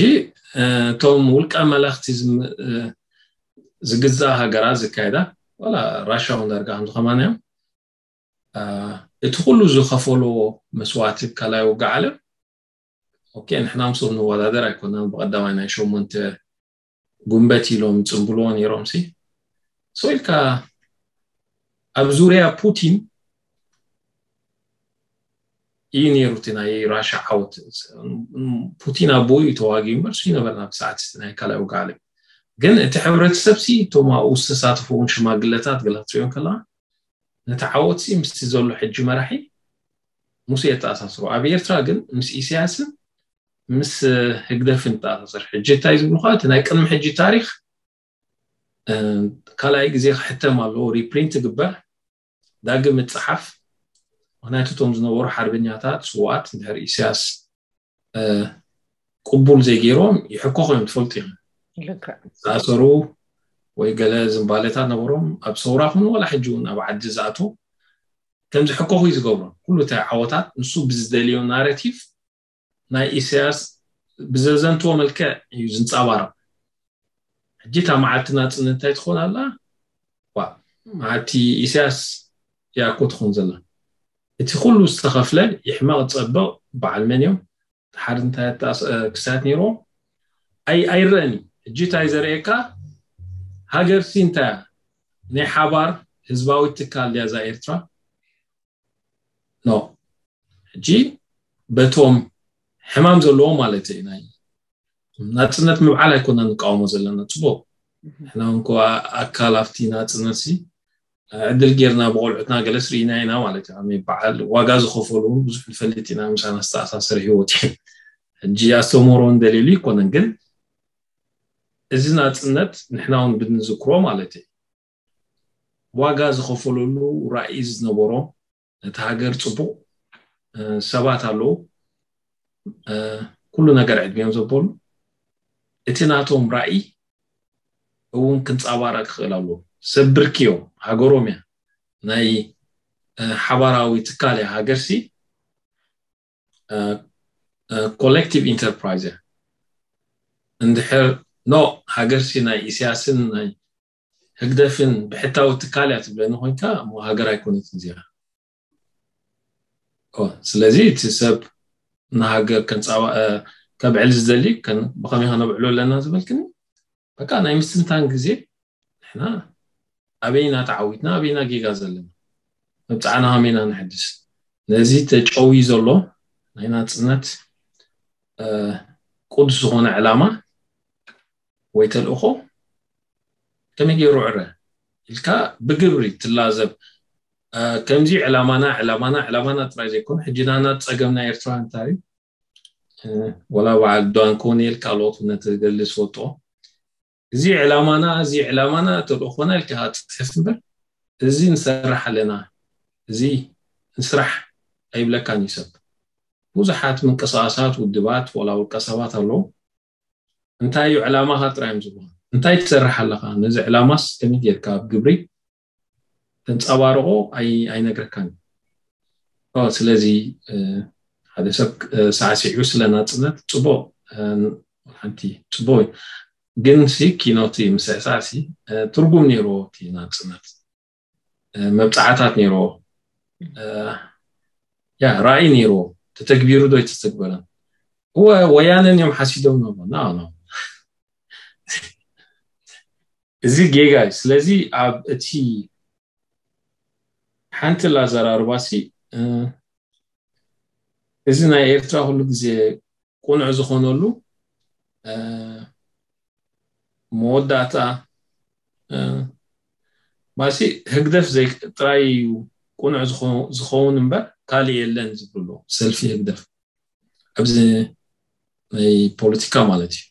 እቶም ውልቀ መለኽቲ ዝግዛእ ሃገራት ዝካየዳ ዋላ ራሻ እውን ዳርጋ ከምዚ ከማን እዮም። እቲ ኩሉ ዝኸፈሎ መስዋእቲ ካልኣይ ውግእ ዓለም ኦኬ ንሕና ምስኦም ንወዳደር ኣይኮናን። ብቐዳማይ ናይ ሸሞንተ ጉንበት ኢሎም ይጽንብልዎ ነይሮም ሲ so ኢልካ ኣብ ዙርያ ፑቲን እዩ ነይሩ እቲ ናይ ራሻ ዓወት። ፑቲን ኣቦኡ እዩ ተዋጊኡ እምበር ሱ ይነበርና ብሰዓት ናይ ካልኣይ ውግእ ዓለም ግን እቲ ሕብረተሰብ ሲ እቶም ኣብኡ ዝተሳተፉ እውን ሽማግለታት ገለ ክትሪኦ ከለካ ነቲ ዓወት ሲ ምስቲ ዘሎ ሕጂ መራሒ ሙስ የተኣሳስሮ ኣብ ኤርትራ ግን ምስ ኢሳያስን ምስ ህግደፍን ተኣሳሰር ሕጂ እንታይ ዝብሉ እቲ ናይ ቅድሚ ሕጂ ታሪኽ ካልኣይ ግዜ ክሕተም ኣለዎ ሪፕሪንት ግበር ዳግም እፀሓፍ ምክንያቱ እቶም ዝነበሩ ሓርበኛታት ስዋኣት እንድሕር ኢሳያስ ቅቡል ዘይገይሮም ይሕኮ ኮይኖም ትፈልጡ እዮም ዝኣሰሩ ወይ ገለ ዝንባሌታት ነበሮም ኣብ ሰውራ ኩኑ ዋላ ሕጂ እውን ኣብ ዓዲ ዝኣትዉ ከምዚ ሕኮኹ እዩ ዝገብሮም ኩሉ እቲ ዓወታት ንሱ ብዝደልዮ ናረቲቭ ናይ ኢሳያስ ብዘዘንትዎ መልክዕ እዩ ዝንፃባረቕ ሕጂ እታ መዓልቲ ናፅነት እንታይ ትኾን ኣላ መዓልቲ ኢሳያስ ያኮ ትኾን ዘላ እቲ ኩሉ ዝተኸፍለ ይሕመቕ ፀብቕ በዓል መን እዮም ሓደ እንታይ ክሳት ነይርዎ ኣይረአን እዩ ሕጂ እንታይ ዘርእየካ ሃገር ሲ እንታይ ናይ ሓባር ህዝባዊ ትካል ድያ እዛ ኤርትራ ኖ ሕጂ በቶም ሕማም ዘለዎ ማለት እዩ ናይ ናፅነት ምብዓል ኣይኮና ንቃወሞ ዘለና ፅቡቅ ሕና እንኳ ኣካል ኣብቲ ናፅነት ሲ ዕድል ጌርና ብቆልዑትና ገለስ ርኢና ኢና ማለት እዩ። ኣመይ በዓል ዋጋ ዝኸፈሉ እውን ብዙሕ ንፈልጥ ኢና፣ ምሳና ዝተኣሳሰረ ህይወት እዩ። ሕጂ ኣስተምህሮ እንደልዩሉ ኣይኮነን፣ ግን እዚ ናጽነት ንሕና እውን ብንዝክሮ ማለት እዩ። ዋጋ ዝኸፈለሉ ራእይ ዝነበሮ፣ ነቲ ሃገር ጽቡቕ ሰባት ኣለዉ፣ ኩሉ ነገር ዕድሚኦም ዘበሉ፣ እቲ ናቶም ራእይ እውን ክንጻባረቅ ክኽእል ኣለዎ። ሰብ ብርኪ እዮም፣ ሃገሮም እያ፣ ናይ ሓባራዊ ትካል እያ። ሃገርሲ ኮሌክቲቭ ኢንተርፕራይዝ እያ። እንድሕር ኖ ሃገርሲ ናይ ኢሳያስን ናይ ህግደፍን ብሕታዊ ትካል እያ ትብለኒ ኮይንካ፣ እሞ ሃገር ኣይኮነትን እዚኣ። ስለዚ እቲ ሰብ ንሃገር ከብዕል ዝደሊ ብኸመይ ከነብዕሎ ኣለና ዝበልክኒ፣ በቃ ናይ ምስትንታን ግዜ። ንሕና ኣበይና ተዓዊትና፣ ኣበይና ጌጋ ዘለና፣ መብፅዓና ከመይና ንሕድስ? ነዚ ተጨውዩ ዘሎ ናይ ናፅነት ቅዱስ ዝኾነ ዕላማ ወይ ተልእኾ ከመይ ገይሩ ዕረ ኢልካ ብግብሪ ትላዘብ። ከምዚ ዕላማና ዕላማና ዕላማና ጥራይ ዘይኮነ፣ ሕጂ ናና ፀገምና ኤርትራ እንታይ እዩ? ወላ በዓል ዳን ኮኔል ካልኦት ነቲ ገድሊ ዝፈልጦ፣ እዚ ዕላማና እዚ ዕላማና ተልእኾና ኢልካ ጽሕፍ እምበር፣ እዚ ንሰርሕ ኣለና፣ እዚ ንስራሕ ኣይብለካን እዩ ሰብ። ብዙሓት ምንቅስቃሳት ውድባት ወላ ውልቀ ሰባት ኣለዉ። እንታይ እዩ ዕላማኻ ጥራይ እዮም ዝብሉኻ። እንታይ ትሰርሕ ኣለኻ? ነዚ ዕላማስ ከመይ ጌርካ ኣብ ግብሪ ተንጸባርቆ ኣይነግረካን። ስለዚ ሓደ ሰብ ሳዕሲዑ ስለ ናጽነት ጽቡቅ፣ ሓንቲ ጽቡቅ እዩ። ግን ሲ ኪኖቲ ምስዕሳዕ ሲ ትርጉም ነይርዎ እቲ ናጽነት፣ መብጻዕታት ነይርዎ፣ ያ ራእይ ነይርዎ። ተተግቢሩ ዶ ኣይተተግበረን? እወ ወያነን እዮም ሓሲዶም ነው ና ነው እዚ ጌጋ እዩ። ስለዚ ኣብ እቲ ሓንቲ ላዘራርባሲ እዚ ናይ ኤርትራ ኩሉ ግዜ ቁኑዕ ዝኾነሉ መወዳእታ ማሲ ህግደፍ ጥራይ እዩ ቁኑዕ ዝኸውን እምበር ካልእ የለን ዝብሉ ሰልፊ ህግደፍ ኣብዚ ናይ ፖለቲካ ማለት እዩ።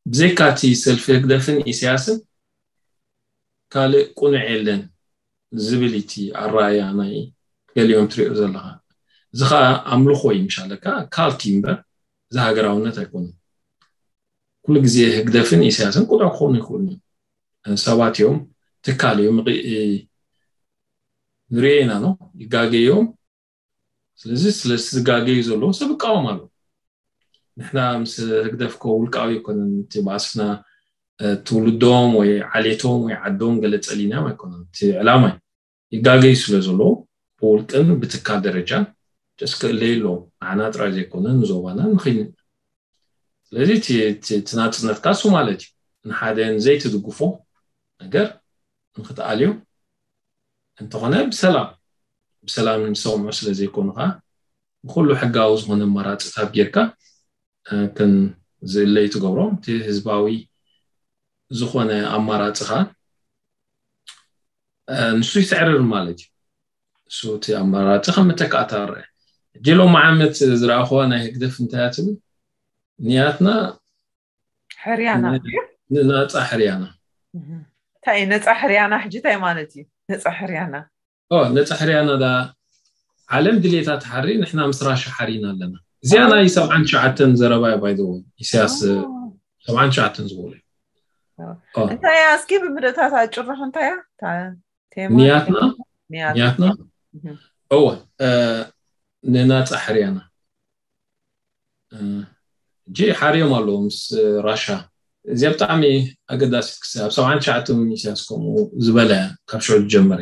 ብዘይካ እቲ ሰልፊ ህግደፍን ኢሳያስን ካልእ ቁኑዕ የለን ዝብል እቲ ኣረኣያ ናይ ገሊኦም ትሪኦ ዘለኻ። እዚ ኸዓ ኣምልኾ እዩ ምሻለካ ካልቲ እምበር እዚ ሃገራውነት ኣይኮነን። ኩሉ ግዜ ህግደፍን ኢሳያስን ቁኑዕ ክኾኑ ይኽእሉ እዮም። ሰባት እዮም፣ ትካል እዮም፣ ንሪኦ ኢና ነው ይጋገዮም። ስለዚ ስለዚ ዝጋገዩ ዘለዉ ሰብ ይቃወም ኣሎ። ንሕና ምስ ህግደፍ ኮ ውልቃዊ ኣይኮነን፣ እቲ ባእስና ትውልዶም ወይ ዓሌቶም ወይ ዓዶም ገለ ጸሊናም ኣይኮነን። እቲ ዕላማ እዩ። ይጋገዩ ስለ ዘለዉ ብውልቅን ብትካል ደረጃን ጀስ ክእለዩ ኣለዎም። ንዓና ጥራይ ዘይኮነ ንዞባና ንኽይን። ስለዚ እቲ ናጽነትካ እሱ ማለት እዩ። ንሓደ ንዘይትድግፎ ነገር ንክትኣልዮ እንተኾነ ብሰላም ብሰላም ዝሰምዑ ስለ ዘይኮኑ ከዓ ብኩሉ ሕጋዊ ዝኾነ ኣማራፅታት ጌርካ ከም ዝእለይ ትገብሮ። እቲ ህዝባዊ ዝኾነ ኣማራፂ ከዓ ንሱ ይስዕርር ማለት እዩ። ንሱ እቲ ኣማራፂ ከም መተካእታ ርአ። ሕጂ ሎም ዓመት ዝረኣኽዋ ናይ ህግደፍ እንታይ እያ ትብል? ንያትና ሕርያና ንናፃ ሕርያና። እንታይ እዩ ነፃ ሕርያና? ሕጂ እንታይ ማለት እዩ ነፃ ሕርያና? ነፃ ሕርያና ዳ ዓለም ድሌታ ትሓሪ፣ ንሕና ምስ ራሻ ሓሪና ኣለና። እዚኣ ናይ ሰብዓን ትሽዓተን ዘረባ እዩ። ባይ ዘ ወይ ኢሳያስ ሰብዓን ትሽዓተን ዝበሉ እዩ። እንታይ እያ እስኪ ብምልእታት ኣጭርሕ እንታይ እያ ንያትና ንያትና? እወ ንናፃ ሕርያና እጂ ሓርዮም ኣለዉ ምስ ራሻ። እዚኣ ብጣዕሚ ኣገዳሲት ክስ ኣብ ሰብዓን ትሽዓተን እውን ኢሳያስ ከምኡ ዝበለ ካብ ሽዑ ዝጀመረ።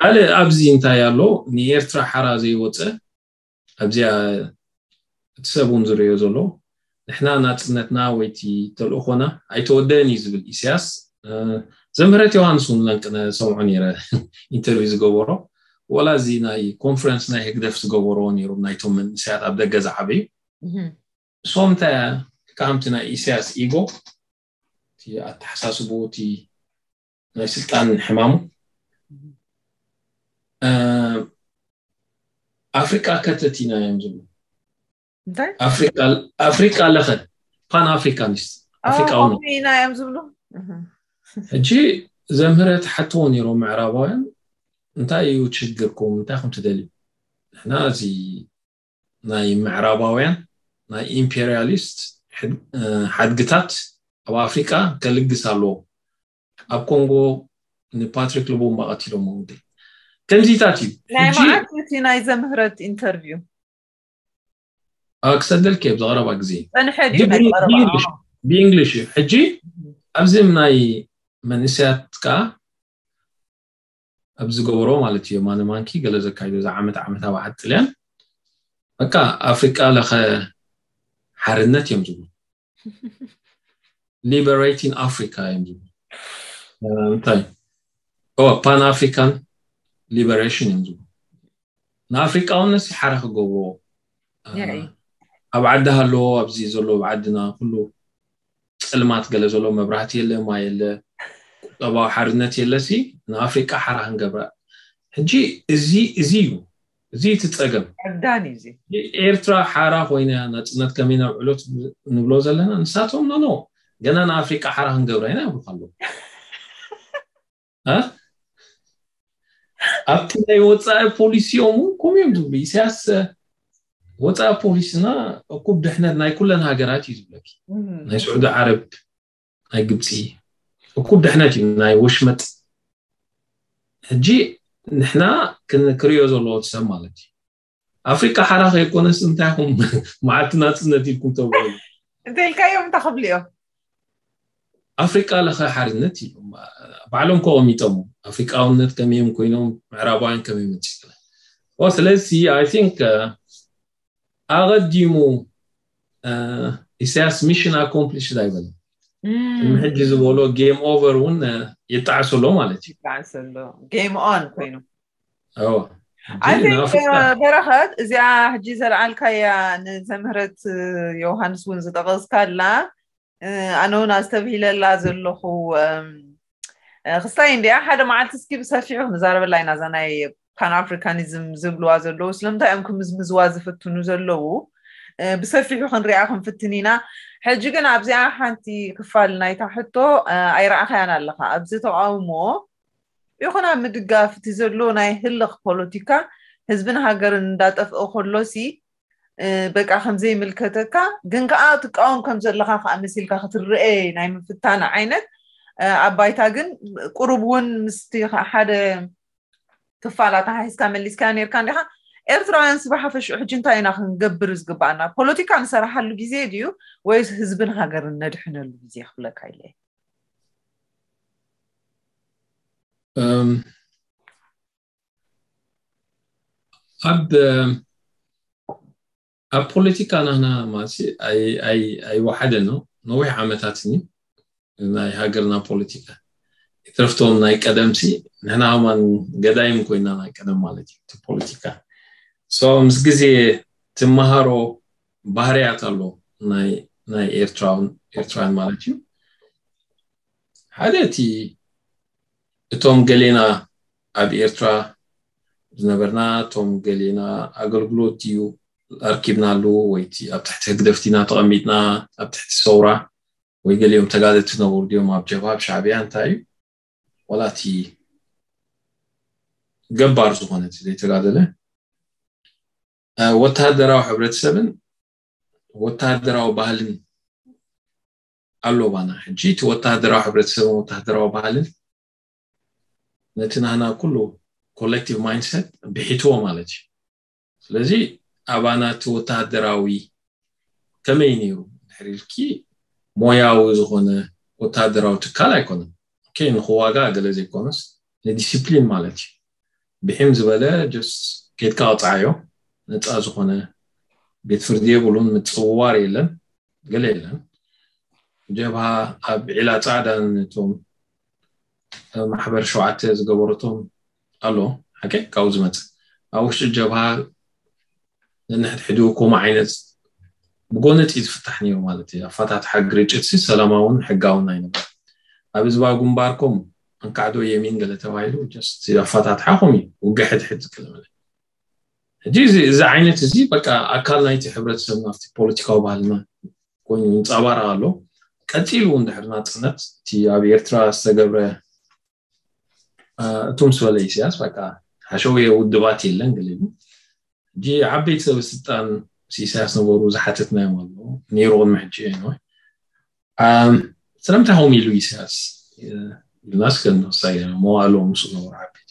ካልእ ኣብዚ እንታይ ኣሎ ንኤርትራ ሓራ ዘይወፀ ኣብዚኣ እቲ ሰብ እውን ዝርእዮ ዘሎ ንሕና ናፅነትና ወይቲ ተልእኾና ኣይተወደን እዩ ዝብል ኢሳያስ። ዘምህረት ዮሃንስ እውን ለንቅነ ሰምዖ ነይረ ኢንተርቪው ዝገበሮ ወላ እዚ ናይ ኮንፈረንስ ናይ ህግደፍ ዝገበሮ ነይሮም ናይቶም መንእሰያት ኣብ ደገ ዝዓበዩ እሶም እንታይ ከምቲ ናይ ኢሳያስ ኢጎ እቲ ኣተሓሳስቡ እቲ ናይ ስልጣን ሕማሙ ኣፍሪቃ ከተቲና እዮም ዝብሉ። እንታይ ኣፍሪቃ ለኸ ፓን ኣፍሪካኒስት ኣፍሪቃዊ ነው። ኢና እዮም ዝብሉ። ሕጂ ዘምህረት ሓትዎ ነይሮም ምዕራባውያን፣ እንታይ እዩ ችግርኩም? እንታይ ኹም ትደልዩ? ንሕና እዚ ናይ ምዕራባውያን ናይ ኢምፔሪያሊስት ሓድግታት ኣብ ኣፍሪቃ ከልግስ ኣለዎ። ኣብ ኮንጎ ንፓትሪክ ልቡምባ ቀቲሎሞ። ከምዚታት እዩ ናይ መዓት እቲ ናይ ዘምህረት ኢንተርቪው ክሰደልክ ኣብ ዝቐረባ ግዜ። ጸንሐ ድዩ ናይ ቀረባ ብእንግሊሽ እዩ። ሕጂ ኣብዚም ናይ መንእሰያት ከዓ ኣብ ዝገበሮ ማለት እዩ፣ ማነ ማንኪ ገለ ዘካይዶ፣ እዛ ዓመት ዓመታዊ ዓጥልያን በቃ ኣፍሪቃ ለኸ ሓርነት እዮም ዝብሉ። ሊበሬቲንግ ኣፍሪካ እዮም ዝብሉ። እንታይ ፓን ኣፍሪካን ሊበሬሽን እዮም ዝብሉ። ንኣፍሪቃውነት ሓራ ክገብርዎ ኣብ ዓዲ ሃለዎ፣ ኣብዚ ዘሎ ኣብ ዓድና ኩሉ ፀልማት ገለ ዘሎ፣ መብራህቲ የለ፣ ማይ የለ፣ ቁጠባዊ ሓርነት የለ ሲ ንኣፍሪቃ ሓራ ክንገብራ። ሕጂ እዚ እዚ እዩ እዚ እቲ ፀገም። ዕብዳን እዩ እዚ። ኤርትራ ሓራ ኮይና ናፅነት ከመይ ነብዕሎ ንብሎ ዘለና፣ ንሳቶም ኖ ኖ ገና ንኣፍሪቃ ሓራ ክንገብራ ኢና ይብሉ ኣለዉ። ኣብቲ ናይ ወፃኢ ፖሊሲኦም እውን ከምኡ እዮም ዝብሉ። ኢሳያስ ወፃኢ ፖሊስና እኩብ ድሕነት ናይ ኩለን ሃገራት እዩ ዝብለኪ። ናይ ስዑዲ ዓረብ፣ ናይ ግብፂ እኩብ ድሕነት እዩ፣ ናይ ወሽመጥ። ሕጂ ንሕና ክንክርዮ ዘለዎ ሰብ ማለት እዩ። ኣፍሪቃ ሓራ ከይኮነስ እንታይ ኹም መዓልቲ ናፅነት ኢልኩም ተብሉ እንተልካዮም እንታይ ክብሉ እዮም? ኣፍሪቃ ለኸ ሓርነት ኢሎም ባዕሎም ከቐሚጦም፣ ኣፍሪቃውነት ከመዮም ኮይኖም ምዕራባውያን ከመይ መፂ። ስለዚ I think ኣቐዲሙ ኢሳያስ ሚሽን ኣኮምፕሊሽድ ኣይበለን። ሕጂ ዝበሎ ጌም ኦቨር እውን ይጣዕሱ ኣሎ ማለት እዩ። ጌም ኦን ኮይኑ እዎ። በረኸት፣ እዚኣ ሕጂ ዘልዓልካያ ንዘምህረት ዮሃንስ እውን ዝጠቐስካላ ኣነ እውን ኣስተብሂለላ ዘለኹ ክስታይ እንዲያ። ሓደ መዓልቲ እስኪ ብሰፊሑ ክንዛረበላ ኢና፣ እዛ ናይ ፓን ኣፍሪካኒዝም ዝብልዋ ዘለዉ ስለምንታይ እዮም ክምዝምዝዋ ዝፍትኑ ዘለዉ ብሰፊሑ ክንሪኣ ክንፍትን ኢና። ሕጂ ግን ኣብዚኣ ሓንቲ ክፋል ናይታ ሕቶ ኣይረኣኻያን ኣለኻ። ኣብዚ ተቃውሞ ይኹን ኣብ ምድጋፍ እቲ ዘሎ ናይ ህልኽ ፖለቲካ ህዝብን ሃገርን እንዳጠፍአ ከሎሲ በቃ ከምዘይምልከተካ ግን ከዓ ትቃወም ከም ዘለካ ከዓ መሲልካ ክትረአ ናይ ምፍታን ዓይነት ኣብ ባይታ ግን ቁሩብ እውን ምስቲ ሓደ ክፋል ኣተሓሒዝካ መሊስካዮ ነርካ እንዲኻ። ኤርትራውያን ስባሓፈሽኡ ሕጂ እንታይ ኢና ክንገብር ዝግባኣና? ፖለቲካ ንሰራሓሉ ግዜ ድዩ ወይስ ህዝብን ሃገርን ነድሕነሉ ግዜ ክብለካ ኢለ። ኣብ ኣብ ፖለቲካ ናህና ማለት ኣይወሓደ ነው ነዊሕ ዓመታት ኒ ናይ ሃገርና ፖለቲካ ይትረፍቶም ናይ ቀደምሲ ንሕና ከማን ገዳይም ኮይና ናይ ቀደም ማለት እዩ። እቲ ፖለቲካ ምስ ግዜ ትመሃሮ ባህርያት ኣሎ ናይ ኤርትራውን ኤርትራውያን ማለት እዩ። ሓደ እቲ እቶም ገሌና ኣብ ኤርትራ ዝነበርና እቶም ገሌና ኣገልግሎት ድዩ ኣርኪብናሉ ወይ እቲ ኣብ ትሕቲ ህግደፍ ዲና ተቐሚጥና ኣብ ትሕቲ ሰውራ ወይ ገሊኦም ተጋደልቲ ዝነበሩ ድዮም ኣብ ጀብሃ ኣብ ሻዕብያ እንታይ እዩ ዋላ እቲ ገባር ዝኾነ እቲ ዘይተጋደለ ወታደራዊ ሕብረተሰብን ወታደራዊ ባህልን ኣሎ ባና። ሕጂ እቲ ወታደራዊ ሕብረተሰብን ወታደራዊ ባህልን ነቲ ናህና ኩሉ ኮሌክቲቭ ማይንድሰት ብሒትዎ ማለት እዩ። ስለዚ ኣባና እቲ ወታደራዊ ከመይ ነይሩ ድሕሪ ኢልኪ ሞያዊ ዝኾነ ወታደራዊ ትካል ኣይኮነን። ንክዋጋ ገለ ዘይኮነስ ንዲሲፕሊን ማለት እዩ። ብሒም ዝበለ ጀስት ኬድካ ቅፃዓዮ ነፃ ዝኾነ ቤት ፍርዲ የብሉን፣ ምፅውዋር የለን፣ ገለ የለን። ጀብሃ ኣብ ዒላ ፃዕዳ ነቶም ማሕበር ሸውዓተ ዝገበረቶም ኣሎ ሓቂ ካብኡ ዝመፅእ ኣብ ውሽጢ ጀብሃ ነንሕድሕዱ ከምኡ ዓይነት ብጎነፂ ዝፍታሕ ነይሩ ማለት እዩ። ኣፋታትሓ ግርጭት ሲ ሰላማውን ሕጋውን ኣይነበረ። ኣብ ህዝባዊ ግንባርኩም እንካዕዶ የሚን ገለ ተባሂሉ just ኣፈታትሓ ከምኡ እዩ። ውግእ ሕድሕድ ገለ መለ። ሕጂ እዚ ዓይነት እዚ በቃ ኣካል ናይቲ ሕብረተሰብ ናብቲ ፖለቲካዊ ባህልና ኮይኑ ይንፀባረቕ ኣሎ። ቀፂሉ እውን ድሕሪ ናፅነት እቲ ኣብ ኤርትራ ዝተገብረ እቱ ምስ በለ ኢሳያስ በቃ ሓሸውየ ውድባት የለን ገለ ኢሉ። ሕጂ ዓበይቲ ሰበስልጣን ምስ ኢሳያስ ነበሩ ዝሓተትናዮም ኣሎ ነይሩ ቅድሚ ሕጂ ነው። ስለምንታይ ከምኡ ኢሉ ኢሳያስ ኢልና እስከ ንወሳ መዋእሎም ምስኡ ነበሩ ዓበይቲ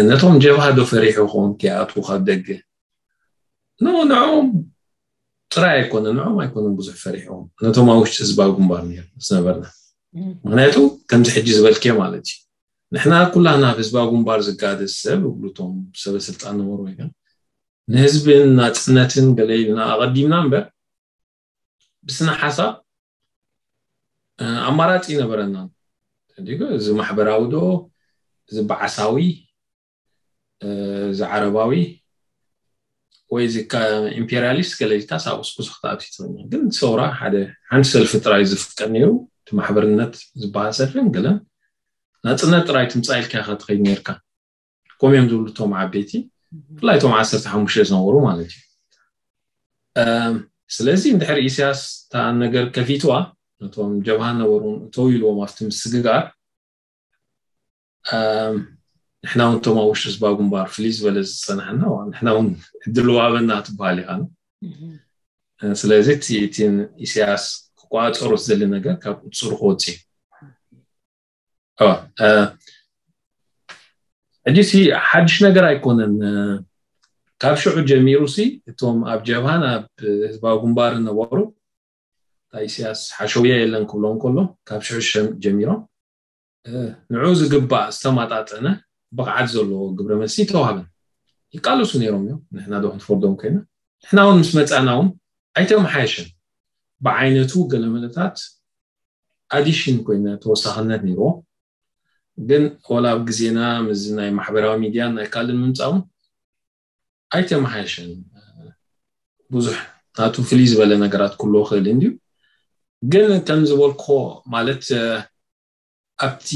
ነቶም ጀብሃ ዶ ፈሪሑ ኾን ክኣትዉ ካብ ደገ ኖ ንዕኦም ጥራይ ኣይኮነ ንዕኦም ኣይኮነን ብዙሕ ፈሪሖም ነቶም ኣብ ውሽጢ ህዝባዊ ግንባር ዝነበርና። ምክንያቱ ከምዚ ሕጂ ዝበልክዮ ማለት እዩ፣ ንሕና ኩላና ኣብ ህዝባዊ ግንባር ዝጋደስ ሰብ እብሉቶም ሰበ ስልጣን ነበሩ ወይ ንህዝብን ናፅነትን ገለ ኢልና ኣቐዲምና እምበር ብስነ ሓሳብ ኣማራፂ ይነበረና። እዚ ማሕበራዊ ዶ፣ እዚ በዓሳዊ፣ እዚ ዓረባዊ ወይ እዚ ኢምፔሪያሊስት ገለ ኢልካ ሳብ ስኩስ ክትኣቱ ትኽእል። ግን ሰውራ ሓደ ሓንቲ ሰልፊ ጥራይ ዝፍቀድ ነይሩ። እቲ ማሕበርነት ዝበሃል ሰልፊ ገለን ናፅነት ጥራይ ትምፃእ ኢልካ ኢኻ ትኸይድ ነርካ። ከምኡ እዮም ዝብሉ እቶም ዓበይቲ፣ ብፍላይ እቶም ዓሰርተ ሓሙሽተ ዝነበሩ ማለት እዩ። ስለዚ እንድሕር ኢሳያስ እታ ነገር ከፊትዋ ነቶም ጀብሃ ነበሩ እተው ኢልዎም ኣብቲ ምስግጋር ንሕና እውን እቶም ኣብ ውሽጢ ህዝባዊ ግንባር ፍልይ ዝበለ ዝፀናሕና ንሕና እውን ዕድል ዋበና ትበሃል ኢኻ። ስለዚ እቲ ኢሳያስ ክቋፀሮ ዝደሊ ነገር ካብ ቁፅሩ ክወፅእ እዩ። ሕጂ ሲ ሓድሽ ነገር ኣይኮነን። ካብ ሽዑ ጀሚሩ ሲ እቶም ኣብ ጀብሃን ኣብ ህዝባዊ ግንባር ነበሩ ኢሳያስ ሓሸውየ የለን ክብሎም ከሎ ካብ ሽዑ ጀሚሮም ንዑ ዝግባእ ዝተማጣጠነ ብቕዓት ዘለዎ ግብረ መልሲ ተዋህበን ይቃለሱ ነይሮም እዮም። ንሕና ዶ ክንፈርዶም ኮይና ንሕና እውን ምስ መፃና እውን ኣይተመሓየሸን። ብዓይነቱ ገለመለታት ኣዲሽን ኮይነ ተወሳኽነት ነይርዎ። ግን ወላ ኣብ ግዜና ምስ ናይ ማሕበራዊ ሚድያን ናይ ካልእን ምምፃውን ኣይተመሓየሸን። ብዙሕ ናቱ ፍልይ ዝበለ ነገራት ክህልዎ ክእል እንድዩ። ግን ከም ዝበልኮ ማለት ኣብቲ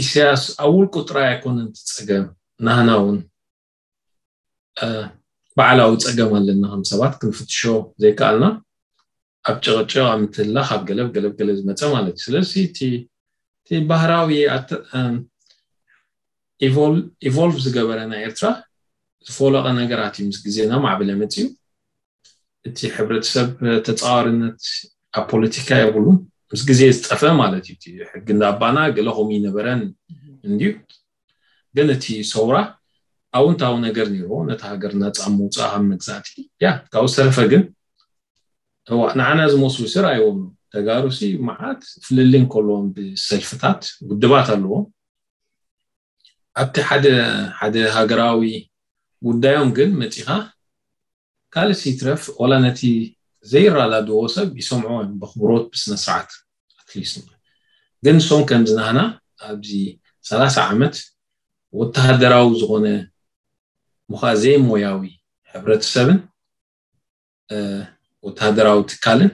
ኢሳያስ ኣብ ውልቁ ጥራይ ኣይኮነን እቲ ፀገም፣ ናህና እውን በዓላዊ ፀገም ኣለና ከም ሰባት ክንፍትሾ ዘይከኣልና ኣብ ጭቕጭቕ ኣብ ምትህላኽ ኣብ ገለብ ገለብ ገለ ዝመፀ ማለት እዩ። ስለዚ እቲ ባህራዊ ኢቮልቭ ዝገበረ ናይ ኤርትራ ዝፈለቐ ነገራት እዩ ምስ ግዜና ማዕበለ መፅዩ። እቲ ሕብረተሰብ ተፃዋርነት ኣብ ፖለቲካ የብሉን። ምስ ግዜ ዝጠፈ ማለት እዩ። ሕጊ እንዳባና ገለ ከምኡ ይነበረን እንድዩ። ግን እቲ ሰውራ ኣውንታዊ ነገር ነይርዎ ነቲ ሃገር ናፃ ምውፃእ ካብ መግዛእቲ ያ ካብኡ ዝተረፈ ግን ንዓና ዝመስሉ ስር ኣይዎም ተጋሩሲ መዓት ፍልልይ ከለዎም ብሰልፍታት ውድባት ኣለዎም። ኣብቲ ሓደ ሓደ ሃገራዊ ጉዳዮም ግን መፂኻ ካልእ ይትረፍ ወላ ነቲ ዘይራዳድዎ ሰብ ይሰምዖ እዮም ብክብሮት ብስነ ስርዓት። ኣትሊስት ግን ንሶም ከምዚ ናህና ኣብዚ ሰላሳ ዓመት ወተሃደራዊ ዝኾነ ምዃ ዘይሞያዊ ሕብረተሰብን ወተሃደራዊ ትካልን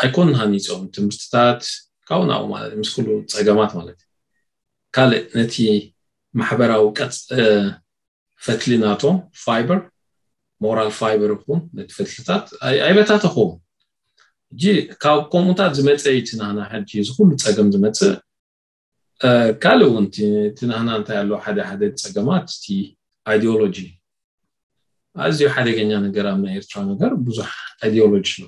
ኣይኮኑን ሃኒፆም ትምህርትታት ካብኡ ናብኡ ማለት ምስ ኩሉ ፀገማት ማለት እዩ። ካልእ ነቲ ማሕበራዊ ቀፅ ፈትሊ ናቶም ፋይበር ሞራል ፋይበር ይኹን ነቲ ፈትልታት ኣይበታተኽዎም። ሕጂ ካብ ከምኡታት ዝመፀ እዩ እቲ ናህና ሕጂ እዚ ኩሉ ፀገም ዝመፅእ። ካልእ እውን እቲ ናህና እንታይ ኣሎ ሓደ ሓደ ፀገማት እቲ ኣይዲዮሎጂ ኣዝዩ ሓደገኛ ነገር ኣብ ናይ ኤርትራ ነገር ብዙሕ ኣይዲዮሎጂ ኣሎ።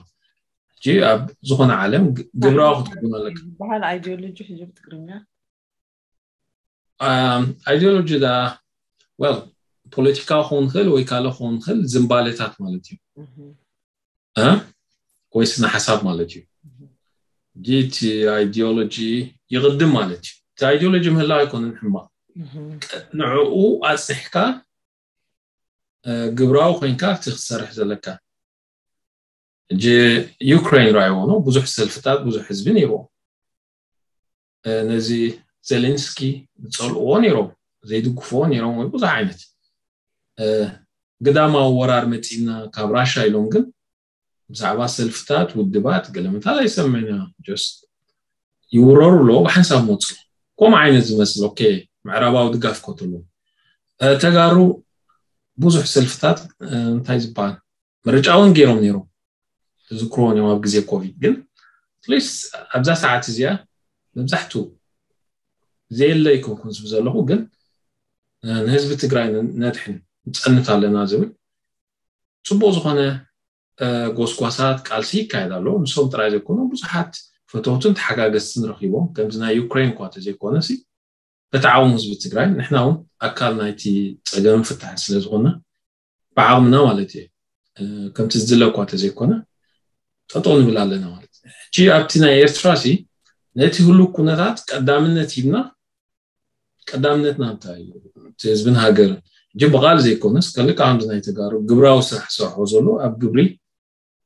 ሕጂ ኣብ ዝኾነ ዓለም ግብራዊ ክትከውን ኣለካ። ዝበሃል ኣይዲዮሎጂ ሕጂ ብትግርኛ ኣይዲዮሎጂ ዳ ወል ፖለቲካዊ ክኸውን ይኽእል ወይ ካልእ ክኸውን ይኽእል ዝንባሌታት ማለት እዩ። ወይ ስነ ሓሳብ ማለት እዩ። እቲ ኣይዲዮሎጂ ይቕድም ማለት እዩ። እቲ ኣይዲዮሎጂ ምህላው ኣይኮነን ሕማቕ። ንዕኡ ኣፅኒሕካ ግብራዊ ኮይንካ እቲ ክትሰርሕ ዘለካ። ሕጂ ዩክሬን ራይዎ ነው ብዙሕ ሰልፍታት ብዙሕ ህዝቢ ነይርዎ። ነዚ ዜሌንስኪ ዝፀልእዎ ነይሮም ዘይድግፍዎ ነይሮም ወይ ብዙሕ ዓይነት ግዳማዊ ወራር መፂና ካብ ራሻ ኢሎም ግን ብዛዕባ ሰልፍታት ውድባት ገለመታል ኣይሰምዕና። ስ ይውረሩ ኣለዎ ብሓንሳብ መፁ። ከምኡ ዓይነት ዝመስል ኦኬ፣ ምዕራባዊ ድጋፍ ከትሉ ተጋሩ ብዙሕ ሰልፍታት እንታይ ዝበሃል ምርጫ እውን ገይሮም ነይሮም። ዝክሮን እዮም ኣብ ግዜ ኮቪድ። ግን ስ ኣብዛ ሰዓት እዚኣ መብዛሕቱ ዘየለ ይኮንኩን ዝብ ዘለኹ፣ ግን ንህዝቢ ትግራይ ነድሕን ንፀንት ኣለና ዝብል ፅቡቅ ዝኾነ ጎስጓሳት ቃልሲ ይካየድ ኣሎ። ንሶም ጥራይ ዘይኮኑ ብዙሓት ፈተውትን ተሓጋገዝትን ረኪቦም፣ ከምዚ ናይ ዩክሬን እኳ ተዘይኮነ ሲ በተዓውም ህዝቢ ትግራይ ንሕና እውን ኣካል ናይቲ ፀገም ፍታሕ ስለዝኮነ ብዓቕምና ማለት እዩ ከምቲ ዝድለ እኳ ተዘይኮነ ጠጠው ንብል ኣለና ማለት እዩ። ሕጂ ኣብቲ ናይ ኤርትራ ሲ ነቲ ህሉ ኩነታት ቀዳምነት ሂብና ቀዳምነትና እንታይ እዩ? እቲ ህዝብን ሃገርን። ሕጂ ብቓል ዘይኮነስ ከልካ ከምዚ ናይ ተጋሩ ግብራዊ ስራሕ ዝሰርሖ ዘሎ ኣብ ግብሪ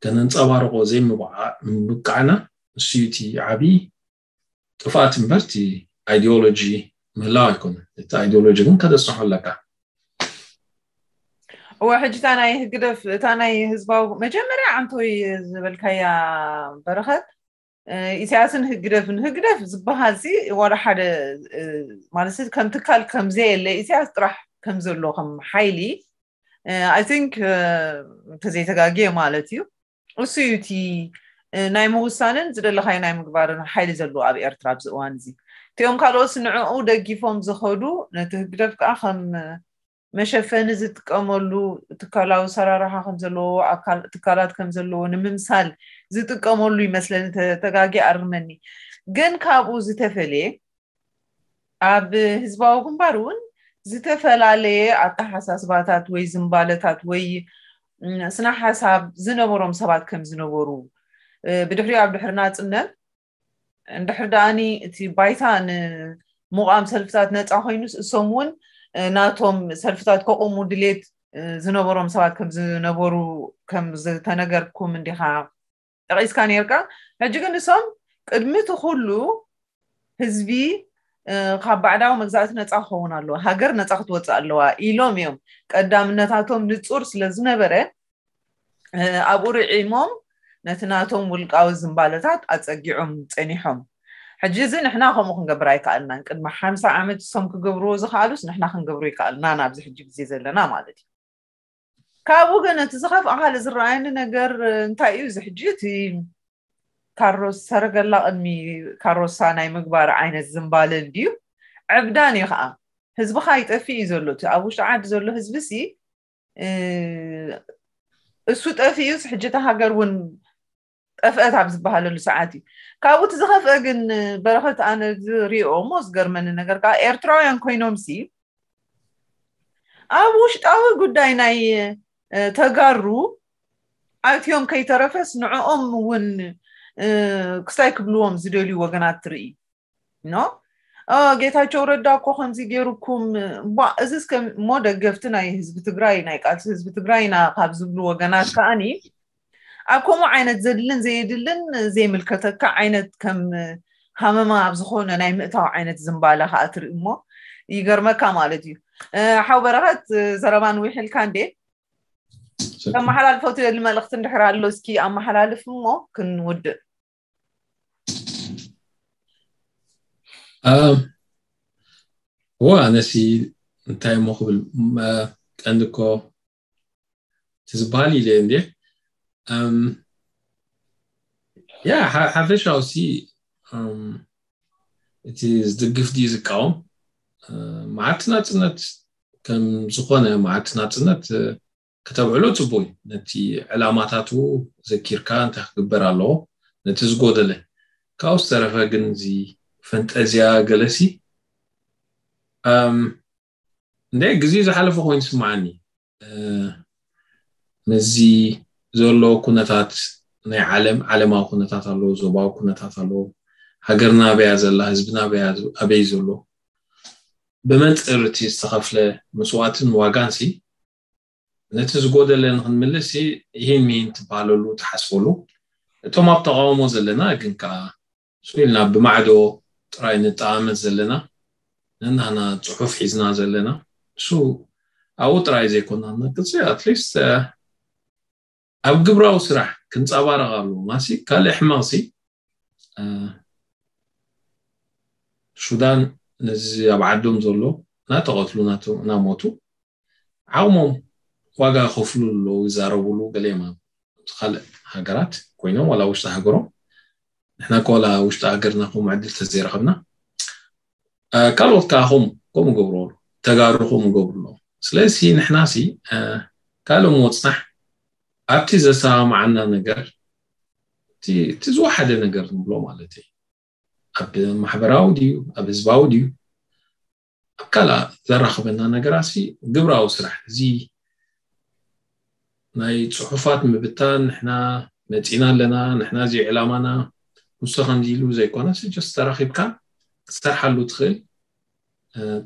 ከነንፀባርቆ ዘይምብቃዕና ንሱ እዩ እቲ ዓብዪ ጥፍኣት እምበር እቲ ኣይዲዮሎጂ ምህላው ኣይኮነን። እቲ ኣይዲዮሎጂ ግን ከተፅንሖ ኣለካ። እወ ሕጂ እታ ናይ ህግደፍ እታ ናይ ህዝባዊ መጀመርያ ዓንቶይ ዝበልካያ በረኸት ኢሳያስን ህግደፍን ህግደፍ ዝበሃል ሲ ዋላ ሓደ ማለት ከም ትካል ከምዘየለ ኢሳያስ ጥራሕ ከምዘሎ ከም ሓይሊ I think እንተዘይተጋግየ ማለት እዩ። እሱ እዩ እቲ ናይ ምውሳንን ዝደለኻዮ ናይ ምግባርን ሓይሊ ዘለዎ ኣብ ኤርትራ ኣብዚ እዋን እዚ። እቲኦም ካልኦት ንዕኡ ደጊፎም ዝኸዱ ነቲ ህግደፍ ከዓ ከም መሸፈኒ ዝጥቀመሉ ትካላዊ ሰራርሓ ከም ዘለዎ ትካላት ከም ዘለዎ ንምምሳል ዝጥቀመሉ ይመስለኒ። ተጋጊ ኣርመኒ። ግን ካብኡ ዝተፈለየ ኣብ ህዝባዊ ግንባር እውን ዝተፈላለየ ኣተሓሳስባታት ወይ ዝንባለታት ወይ ስነ ሓሳብ ዝነበሮም ሰባት ከም ዝነበሩ ብድሕሪኡ ኣብ ድሕሪ ናፅነት እንድሕር ደኣኒ እቲ ባይታ ንምቋም ሰልፍታት ነፃ ኮይኑስ እሶም እውን ናቶም ሰልፍታት ከቆሙ ድሌት ዝነበሮም ሰባት ከም ዝነበሩ ከም ዝተነገርኩም እንዲኻ ጠቒስካ ነርካ። ሕጂ ግን እሶም ቅድሚ እቲ ኩሉ ህዝቢ ካብ ባዕዳዊ መግዛእቲ ነፃ ክኸውን ኣለዎ፣ ሃገር ነፃ ክትወፅእ ኣለዋ ኢሎም እዮም ቀዳምነታቶም ንፁር ስለ ዝነበረ ኣብኡ ርዒሞም ነቲ ናቶም ውልቃዊ ዝንባለታት ኣፀጊዖም ፀኒሖም። ሕጂ እዚ ንሕና ከምኡ ክንገብር ኣይከኣልናን። ቅድሚ ሓምሳ ዓመት እሶም ክገብርዎ ዝኸኣሉስ ንሕና ክንገብሮ ይከኣልና ናብዚ ሕጂ ግዜ ዘለና ማለት እዩ። ካብኡ ግን እቲ ዝኸፍኣ ካልእ ዝረኣየኒ ነገር እንታይ እዩ? እዚ ሕጂ እቲ ካሮስ ሰረገላ ቅድሚ ካሮሳ ናይ ምግባር ዓይነት ዝንባለ እንድዩ። ዕብዳን እዩ ከዓ ህዝብኻ ይጠፍእ እዩ ዘሎ። እቲ ኣብ ውሽጢ ዓዲ ዘሎ ህዝቢ ሲ እሱ ጠፊኡስ ሕጂ እታ ሃገር እውን ጠፍአት ኣብ ዝበሃለሉ ሰዓት እዩ። ካብኡ እቲ ዝኸፍአ ግን በረኸት ኣነ ዝሪኦ እሞ ዝገርመኒ ነገር ከዓ ኤርትራውያን ኮይኖም ሲ ኣብ ውሽጣዊ ጉዳይ ናይ ተጋሩ ኣትዮም ከይተረፈስ ንዕኦም እውን ክስታይ ክብልዎም ዝደልዩ ወገናት ትርኢ ኖ ጌታቸው ረዳ እኮ ከምዚ ገይሩኩም ቧ እዚ እስከ እሞ ደገፍቲ ናይ ህዝቢ ትግራይ ናይ ቃልሲ ህዝቢ ትግራይ ኢና ካብ ዝብሉ ወገናት ከዓኒ ኣብ ከምኡ ዓይነት ዘድልን ዘየድልን ዘይምልከተካ ዓይነት ከም ሃመማ ኣብ ዝኾነ ናይ ምእታው ዓይነት ዝንባለ ከዓ ትርኢ እሞ ይገርመካ ማለት እዩ። ሓው በረኸት ዘረባ ንዊሕልካ እንዴ ተመሓላልፎ ትደሊ መልእኽቲ እንድሕር ኣሎ እስኪ ኣመሓላልፍ እሞ ክንውድእ። እወ ኣነሲ እንታይ እሞ ክብል ቀንዲ እኮ እቲ ዝበሃል ኢለ እንዴ ያ ሓፈሻውሲ እቲ ዝድግፍ ድዩ ዝቃወም መዓልቲ ናፅነት ከም ዝኾነ መዓልቲ ናፅነት ከተብዕሎ ፅቡቅ እዩ። ነቲ ዕላማታቱ ዘኪርካ እንታይ ክግበር ኣለዎ ነቲ ዝጎደለ ካብኡ ዝተረፈ ግን እዚ ፈንጠዝያ ገለሲ እንደ ግዜ ዝሓለፈ ኮይኑ ይስምዓኒ። ምስዚ ዘሎ ኩነታት ናይ ዓለም ዓለማዊ ኩነታት ኣለዎ፣ ዞባዊ ኩነታት ኣለዎ፣ ሃገርና ኣበያ ዘላ፣ ህዝብና ኣበያ ኣበይ ዘሎ፣ ብመንፅር እቲ ዝተኸፍለ መስዋእትን ዋጋን ሲ ነቲ ዝጎደለ ንክንምልስ ሲ ይህን ሚህን ትበሃለሉ ትሓስበሉ። እቶም ኣብ ተቃውሞ ዘለና ግን ከዓ ስኢልና ብማዕዶ ጥራይ ንጠማመት ዘለና ነናና ፅሑፍ ሒዝና ዘለና እሱ ኣብኡ ጥራይ ዘይኮና ነቅፅ ኣትሊስት ኣብ ግብራዊ ስራሕ ክንጸባረቕ ኣለዎ። ማሲ ካልእ ሕማቕሲ ሱዳን ነዚ ኣብ ዓዶም ዘሎ እናተቐትሉ እናሞቱ ዓቕሞም ዋጋ ከፍሉ ኣለዉ ይዛረብሉ። ገሌማ ካልእ ሃገራት ኮይኖም ዋላ ውሽጢ ሃገሮም ንሕና ኮላ ውሽጢ ሃገርና ከምኡ ዕድል ተዘይረኸብና ካልኦት ከዓ ከም ከምኡ ገብሩ ተጋሩ ከምኡ ገብሩ ኣለዉ። ስለዚ ንሕና ሲ ካልእ ምወፅናሕ ኣብቲ ዘሰማማዓና ነገር እቲ ዝወሓደ ነገር ንብሎ ማለት እዩ። ኣብ ማሕበራዊ ድዩ ኣብ ህዝባዊ ድዩ ኣብ ካልእ ዘራኽበና ነገራት ሲ ግብራዊ ስራሕ እዚ ናይ ፅሑፋት ምብታን ንሕና መፂና ኣለና ንሕና እዚ ዕላማና ንሱ ከምዚ ኢሉ ዘይኮነ ስ just ተራኺብካ ክትሰርሓሉ ትኽእል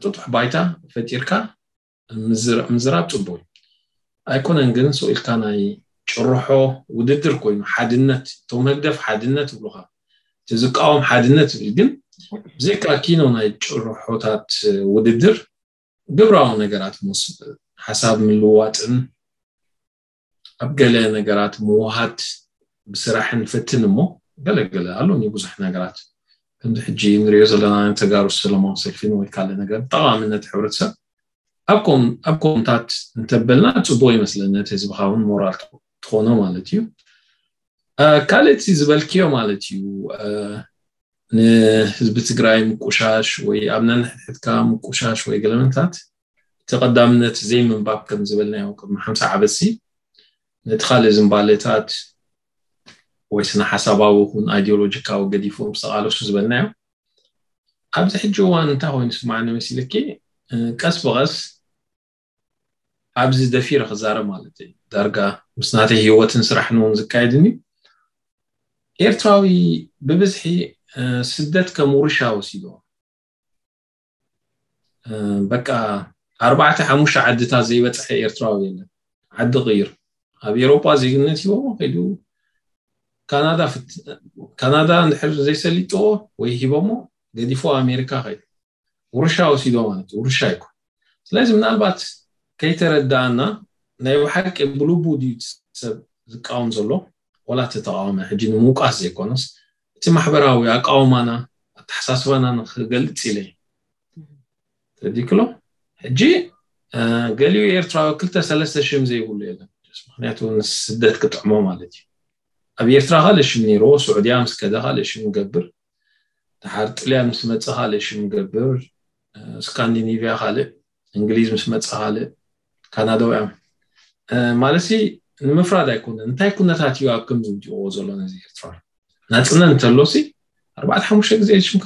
ጥጡሕ ባይታ ፈጢርካ ምዝራብ ፅቡቅ ኣይኮነን። ግን ስኢልካ ናይ ጭርሖ ውድድር ኮይኑ ሓድነት እቶም ህግደፍ ሓድነት ይብሉካ እቲ ዝቃወም ሓድነት ይብል ግን ብዘይካ ኪኖ ናይ ጭርሖታት ውድድር ግብራዊ ነገራት ምስ ሓሳብ ምልዋጥን ኣብ ገለ ነገራት ምውሃድ ብስራሕ ንፈትን እሞ ገለገለ ኣሎኒ ብዙሕ ነገራት ከምዚ ሕጂ ንሪኦ ዘለና ተጋሩ ሰለማዊ ሰልፊን ወይ ካልእ ነገር ጠቓምነት ሕብረተሰብ ኣብ ኮምታት እንተበልና ፅቡቅ ይመስለኒ ነቲ ህዝብካ እውን ሞራል ትኾኖ ማለት እዩ። ካልእቲ ዝበልክዮ ማለት እዩ ንህዝቢ ትግራይ ምቁሻሽ ወይ ኣብ ነንሕድሕድካ ምቁሻሽ ወይ ገለመንታት እቲ ቀዳምነት ዘይምንባብ ከም ዝበልናዮ ቅድሚ ሓምሳ ዓበትሲ ነቲ ካልእ ዝምባለታት ወይ ስነ ሓሳባዊ ይኹን ኣይዲዮሎጂካዊ ገዲፎም ዝተቃለሱ ዝበልናዮ ኣብዚ ሕጂ እዋን እንታይ ኮይኑ ስማዕኒ መሲልኪ ቀስ ብቀስ ኣብዚ ደፊረ ክዛረብ ማለት እዩ ዳርጋ ምስ ናተይ ህይወትን ስራሕን እውን ዝካየድን እዩ ኤርትራዊ ብብዝሒ ስደት ከም ውርሻ ወሲዶ በቃ ኣርባዕተ ሓሙሽተ ዓድታት ዘይበፅሐ ኤርትራዊ የለን ዓዲ ቅይር ኣብ ኤሮጳ ዜግነት ሂቦሞ ከይዱ ካናዳ ፍት ካናዳ እንድሕር ዘይሰሊጥዎ ወይ ሂቦሞ ገዲፎ ኣሜሪካ ከይዱ ውርሻ ወሲዶ ማለት ውርሻ ይኮን ስለዚ ምናልባት ከይተረዳእና ናይ ብሓቂ ብልቡ ድዩ ሰብ ዝቃወም ዘሎ ወላ ተተቃወመ ሕጂ ንምውቃስ ዘይኮነስ እቲ ማሕበራዊ ኣቃውማና ኣተሓሳስባና ንክገልፅ ኢለ ተዲክሎ ሕጂ ገሊኡ ኤርትራዊ ክልተ ሰለስተ ሽም ዘይብሉ የለን ምክንያቱ ስደት ክጥዕሞ ማለት እዩ ኣብ ኤርትራ ካልእ ሽም ነይርዎ ስዑድያ ምስ ከደ ካልእ ሽም ገብር ድሓር ጥልያን ምስ መፀ ካልእ ሽም ገብር ስካንዲኔቪያ ካልእ እንግሊዝ ምስ መፀ ካልእ ካናዳውያን ማለት ሲ ንምፍራድ ኣይኮነን እንታይ ኩነታት እዩ ኣብ ከምዚ ውዲቕዎ ዘሎ ነዚ ኤርትራ ናፅነት እንተሎ ሲ ኣርባዕተ ሓሙሽተ ግዜ ሽምካ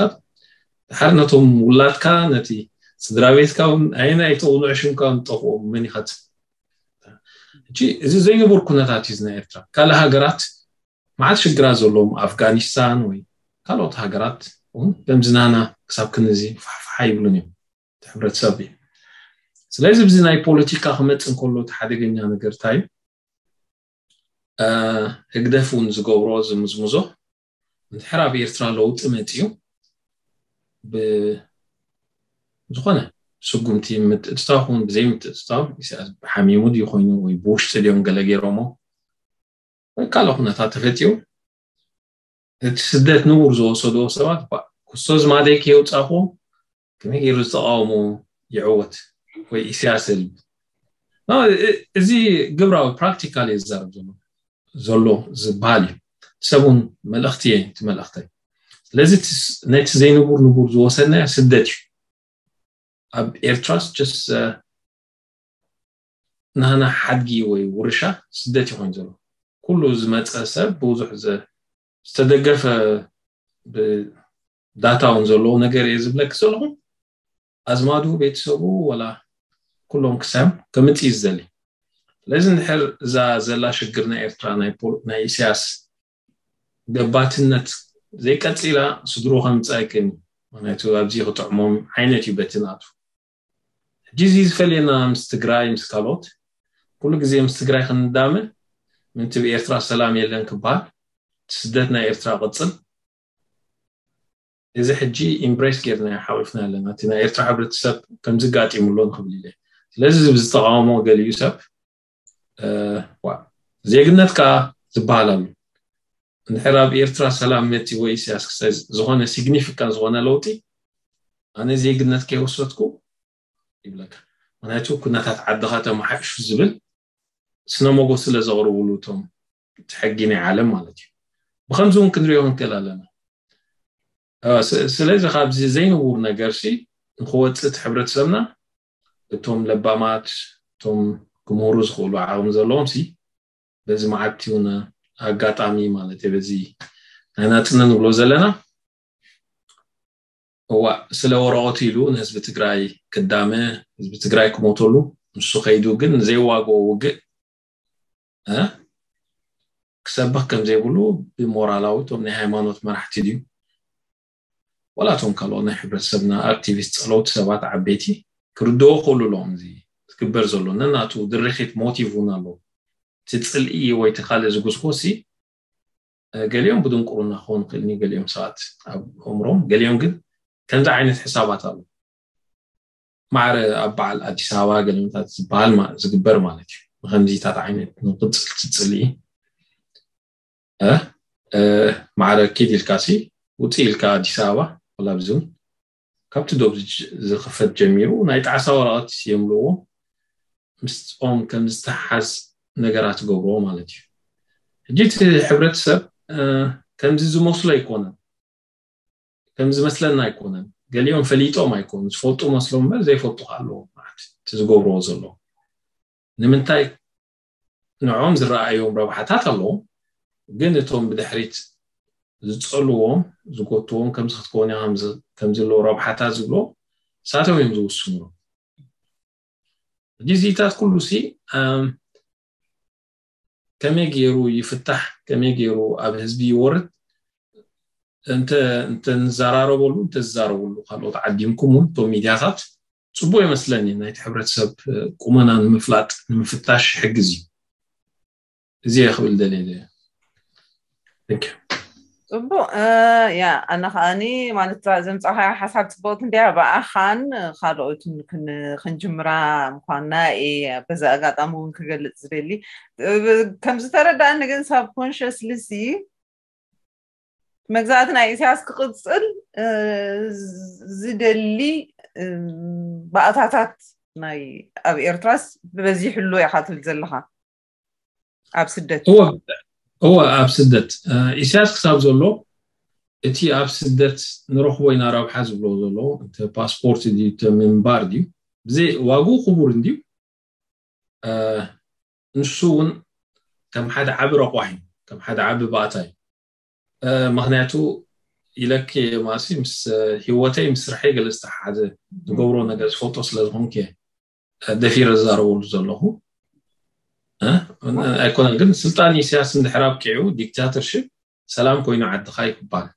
ድሓር ነቶም ውላድካ ነቲ ስድራ ቤትካ እውን ኣይናይ ተውንዑ ሽምካ ንጠፍኦም መን ይኸት እዚ ዘይንቡር ኩነታት እዩ ናይ ኤርትራ ካልእ ሃገራት መዓት ሽግራት ዘለዎም ኣፍጋኒስታን ወይ ካልኦት ሃገራት እውን ከምዚ ናና ክሳብ ክንዚ ፋሕፋሓ ይብሉን እዮም እቲ ሕብረተሰብ እዩ ስለዚ ብዚ ናይ ፖለቲካ ክመፅእ እንከሎ እቲ ሓደገኛ ነገር እንታይ እዩ ህግደፍ እውን ዝገብሮ ዝምዝምዞ እንድሕር ኣብ ኤርትራ ለውጢ መፅዩ ብዝኾነ ስጉምቲ ምትእትታው ክውን ብዘይ ምትእትታው ኢሳያስ ሓሚሙ ድዩ ኮይኑ ወይ ብውሽጢ ድዮም ገለ ገይሮሞ ወይ ካልእ ኩነታት ተፈጢሩ እቲ ስደት ንቡር ዝወሰድዎ ሰባት ኩስቶ ዝማደይ ከየውፃእክዎ ከመይ ገይሩ ዝተቃውሞ ይዕወት ወይ ኢሳያስ ህልብ እዚ ግብራዊ ፕራክቲካል እየ ዝዛረብ ዘሎ ዘሎ ዝበሃል እዩ ሰብ እውን መልእኽቲ እየ እቲ መልእኽተይ ስለዚ ነቲ ዘይንቡር ንቡር ዝወሰድናዮ ስደት እዩ ኣብ ኤርትራስ ጀስ ናህና ሓድጊ ወይ ውርሻ ስደት ይኾን ዘሎ ኩሉ ዝመፀ ሰብ ብዙሕ ዝተደገፈ ዳታ እውን ዘለዎ ነገር እየ ዝብለክ ዘለኹ ኣዝማዱ ቤተሰቡ ወላ ኩሎም ክሳዮም ከምፅእ ዝደሊ ስለዚ እንድሕር እዛ ዘላ ሽግር ናይ ኤርትራ ናይ ኢሳያስ ገባትነት ዘይቀፂላ ስድሩ ከምፅእ ኣይክእልን ምክንያቱ ኣብዚ ክጥዕሞም ዓይነት እዩ በቲ ናቱ ሕጂ እዚ ዝፈልየና ምስ ትግራይ ምስ ካልኦት ኩሉ ግዜ ምስ ትግራይ ክንዳመ ምንቲ ብኤርትራ ሰላም የለን ክበሃል ስደት ናይ ኤርትራ ቅፅል እዚ ሕጂ ኢምብሬስ ጌርና ሓቂፍና ኣለና እቲ ናይ ኤርትራ ሕብረተሰብ ከምዚ ጋጢሙሎ ንክብል ኢለ ስለዚ ዝተቃወሞ ገሊዩ ሰብ ዋ ዜግነት ከዓ ዝበሃል ኣሎ። እንድሕር ኣብ ኤርትራ ሰላም መፂ ወይ ኢሳያስ ክሳይ ዝኾነ ሲግኒፊካንት ዝኾነ ለውጢ ኣነ ዜግነት ከይወሰድኩ ይብለካ። ምክንያቱ ኩነታት ዓድኻ ተመሓይሹ ዝብል ስነ መጎስ ስለ ዘቕርብሉ እቶም እቲ ሕጊ ናይ ዓለም ማለት እዩ። ብከምዚ እውን ክንሪኦ ክንክእል ኣለና። ስለዚ ካብዚ ዘይንቡር ነገር ሲ ንክወፅእ እቲ ሕብረተሰብና እቶም ለባማት እቶም ክምህሩ ዝኽእሉ ዓቕሚ ዘለዎም ሲ በዚ መዓልቲ እውን ኣጋጣሚ ማለት በዚ ናይ ናፅነት ንብሎ ዘለና እዋ ስለ ወረቐቱ ኢሉ ንህዝቢ ትግራይ ክዳመ ህዝቢ ትግራይ ክሞተሉ ንሱ ከይዱ ግን ዘይዋግኦ ውግእ ክሰብኽ ከም ዘይብሉ ብሞራላዊ እቶም ናይ ሃይማኖት መራሕቲ ድዩ ዋላ እቶም ካልኦት ናይ ሕብረተሰብና ኣክቲቪስት ፀለውቲ ሰባት ዓበይቲ ክርድዎ ክእሉ ኣለዎም እዚ ዝግበር ዘሎ ነናቱ ድርኺት ሞቲቭ እውን ኣለዎ እቲ ፅልኢ ወይ እቲ ካልእ ዝጉስጎሲ ገሊኦም ብድንቁርና ክኾኑ ክእልኒ ገሊኦም ሰባት ኣብ ኣእምሮም ገሊኦም ግን ከምዚ ዓይነት ሕሳባት ኣሎ ማዕረ ኣብ በዓል ኣዲስ ኣበባ ገሊምታት ዝበሃል ዝግበር ማለት እዩ ንከምዚታት ዓይነት ንቅፅል ትፅልኢ ማዕረ ኪድ ኢልካሲ ውፅእ ኢልካ ኣዲስ ኣበባ ወላ ብዝውን ካብቲ ዶብ ዝኽፈት ጀሚሩ ናይ ጣዕሳ ወረቐት የምልዎ ምስኦም ከም ዝተሓዝ ነገራት ትገብርዎ ማለት እዩ ሕጂ እቲ ሕብረተሰብ ከምዚ ዝመስሎ ኣይኮነን ከም ዝመስለና ኣይኮነን ገሊኦም ፈሊጦም ኣይኮኑ ዝፈልጡ መስሎም እምበር ዘይፈልጡ ኣለዎም ማለት እቲ ዝገብርዎ ዘለዉ ንምንታይ ንዖም ዝረኣዮም ረብሓታት ኣለዎም ግን እቶም ብድሕሪት ዝፀልዎም ዝጎትዎም ከምዚ ክትከውን ከምዘለዎ ረብሓታት ዝብሎ ሳቶም እዮም ዝውስኑ ሕጂ እዚታት ኩሉ ሲ ከመይ ገይሩ ይፍታሕ ከመይ ገይሩ ኣብ ህዝቢ ይወርድ እንተ እንተ ንዘራረበሉ እንተ ዝዛረብሉ ካልኦት ዓዲምኩም እውን እቶም ሚድያታት ፅቡቅ ይመስለኒ ናይቲ ሕብረተሰብ ቁመና ንምፍላጥ ንምፍታሽ ይሕግዝ እዩ እዚ ክብል ደልየ Thank you. ፅቡቅ ያ ኣነ ከዓኒ ማለት ዘምፃኻያ ሓሳብ ፅቡቅቲ እንዲያ ብኣኻን ካልኦትን ክንጅምራ ምኳንና እየ በዚ ኣጋጣሚ እውን ክገልፅ ዝደሊ ከም ዝተረዳእኒ ግን ሳብኮንሽስሊ ሲ መግዛእቲ ናይ ኢሳያስ ክቕፅል ዝደሊ ባእታታት ናይ ኣብ ኤርትራስ ብበዚሕሉ ኢኻ ትብል ዘለኻ ኣብ ስደት እወ ኣብ ስደት ኢሳያስ ክሳብ ዘሎ እቲ ኣብ ስደት ንረኽቦ ኢና ረብሓ ዝብሎ ዘሎ እቲ ፓስፖርት ድዩ ምንባር ድዩ ብዘይ ዋግኡ ክቡር እንድዩ ንሱ እውን ከም ሓደ ዓቢ ረቋሒ ከም ሓደ ዓቢ ባእታ እዩ ምክንያቱ ኢለኪ ማሲ ምስ ህይወተይ ምስ ስርሐይ ገለ ዝተሓሓዘ ዝገብሮ ነገር ዝፈልጦ ስለ ዝኾንኩ ደፊረ ዝዛረበሉ ዘለኹ ኣይኮነን ግን ስልጣን ኢሳያስ እንድሕር ኣብቂዑ ዲክታተርሽፕ ሰላም ኮይኑ ዓድኻ ይክባል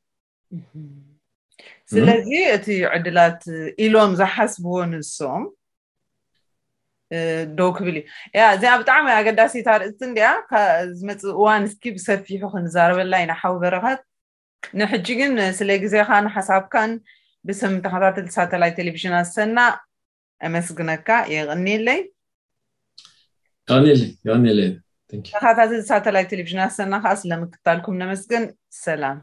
ስለዚ እቲ ዕድላት ኢሎም ዝሓስብዎ ንሶም ደው ክብል እዩ ያ እዚኣ ብጣዕሚ ኣገዳሲት ኣርእስቲ እንዲኣ ዝመፅእ እዋን እስኪ ብሰፊሑ ክንዛረበላ ኢና ሓዊ በረኸት ንሕጂ ግን ስለ ግዜኻን ሓሳብካን ብስም ተኸታተልቲ ሳተላይት ቴሌቪዥን ኣሰና ኣመስግነካ የቕኒለይ የቐኒለይ የቐኒለይ Thank you. ተኸታተልቲ ሳተላይት ቴሌቪዥን ኣሰና ከዓ ስለምክታልኩም ነመስግን ሰላም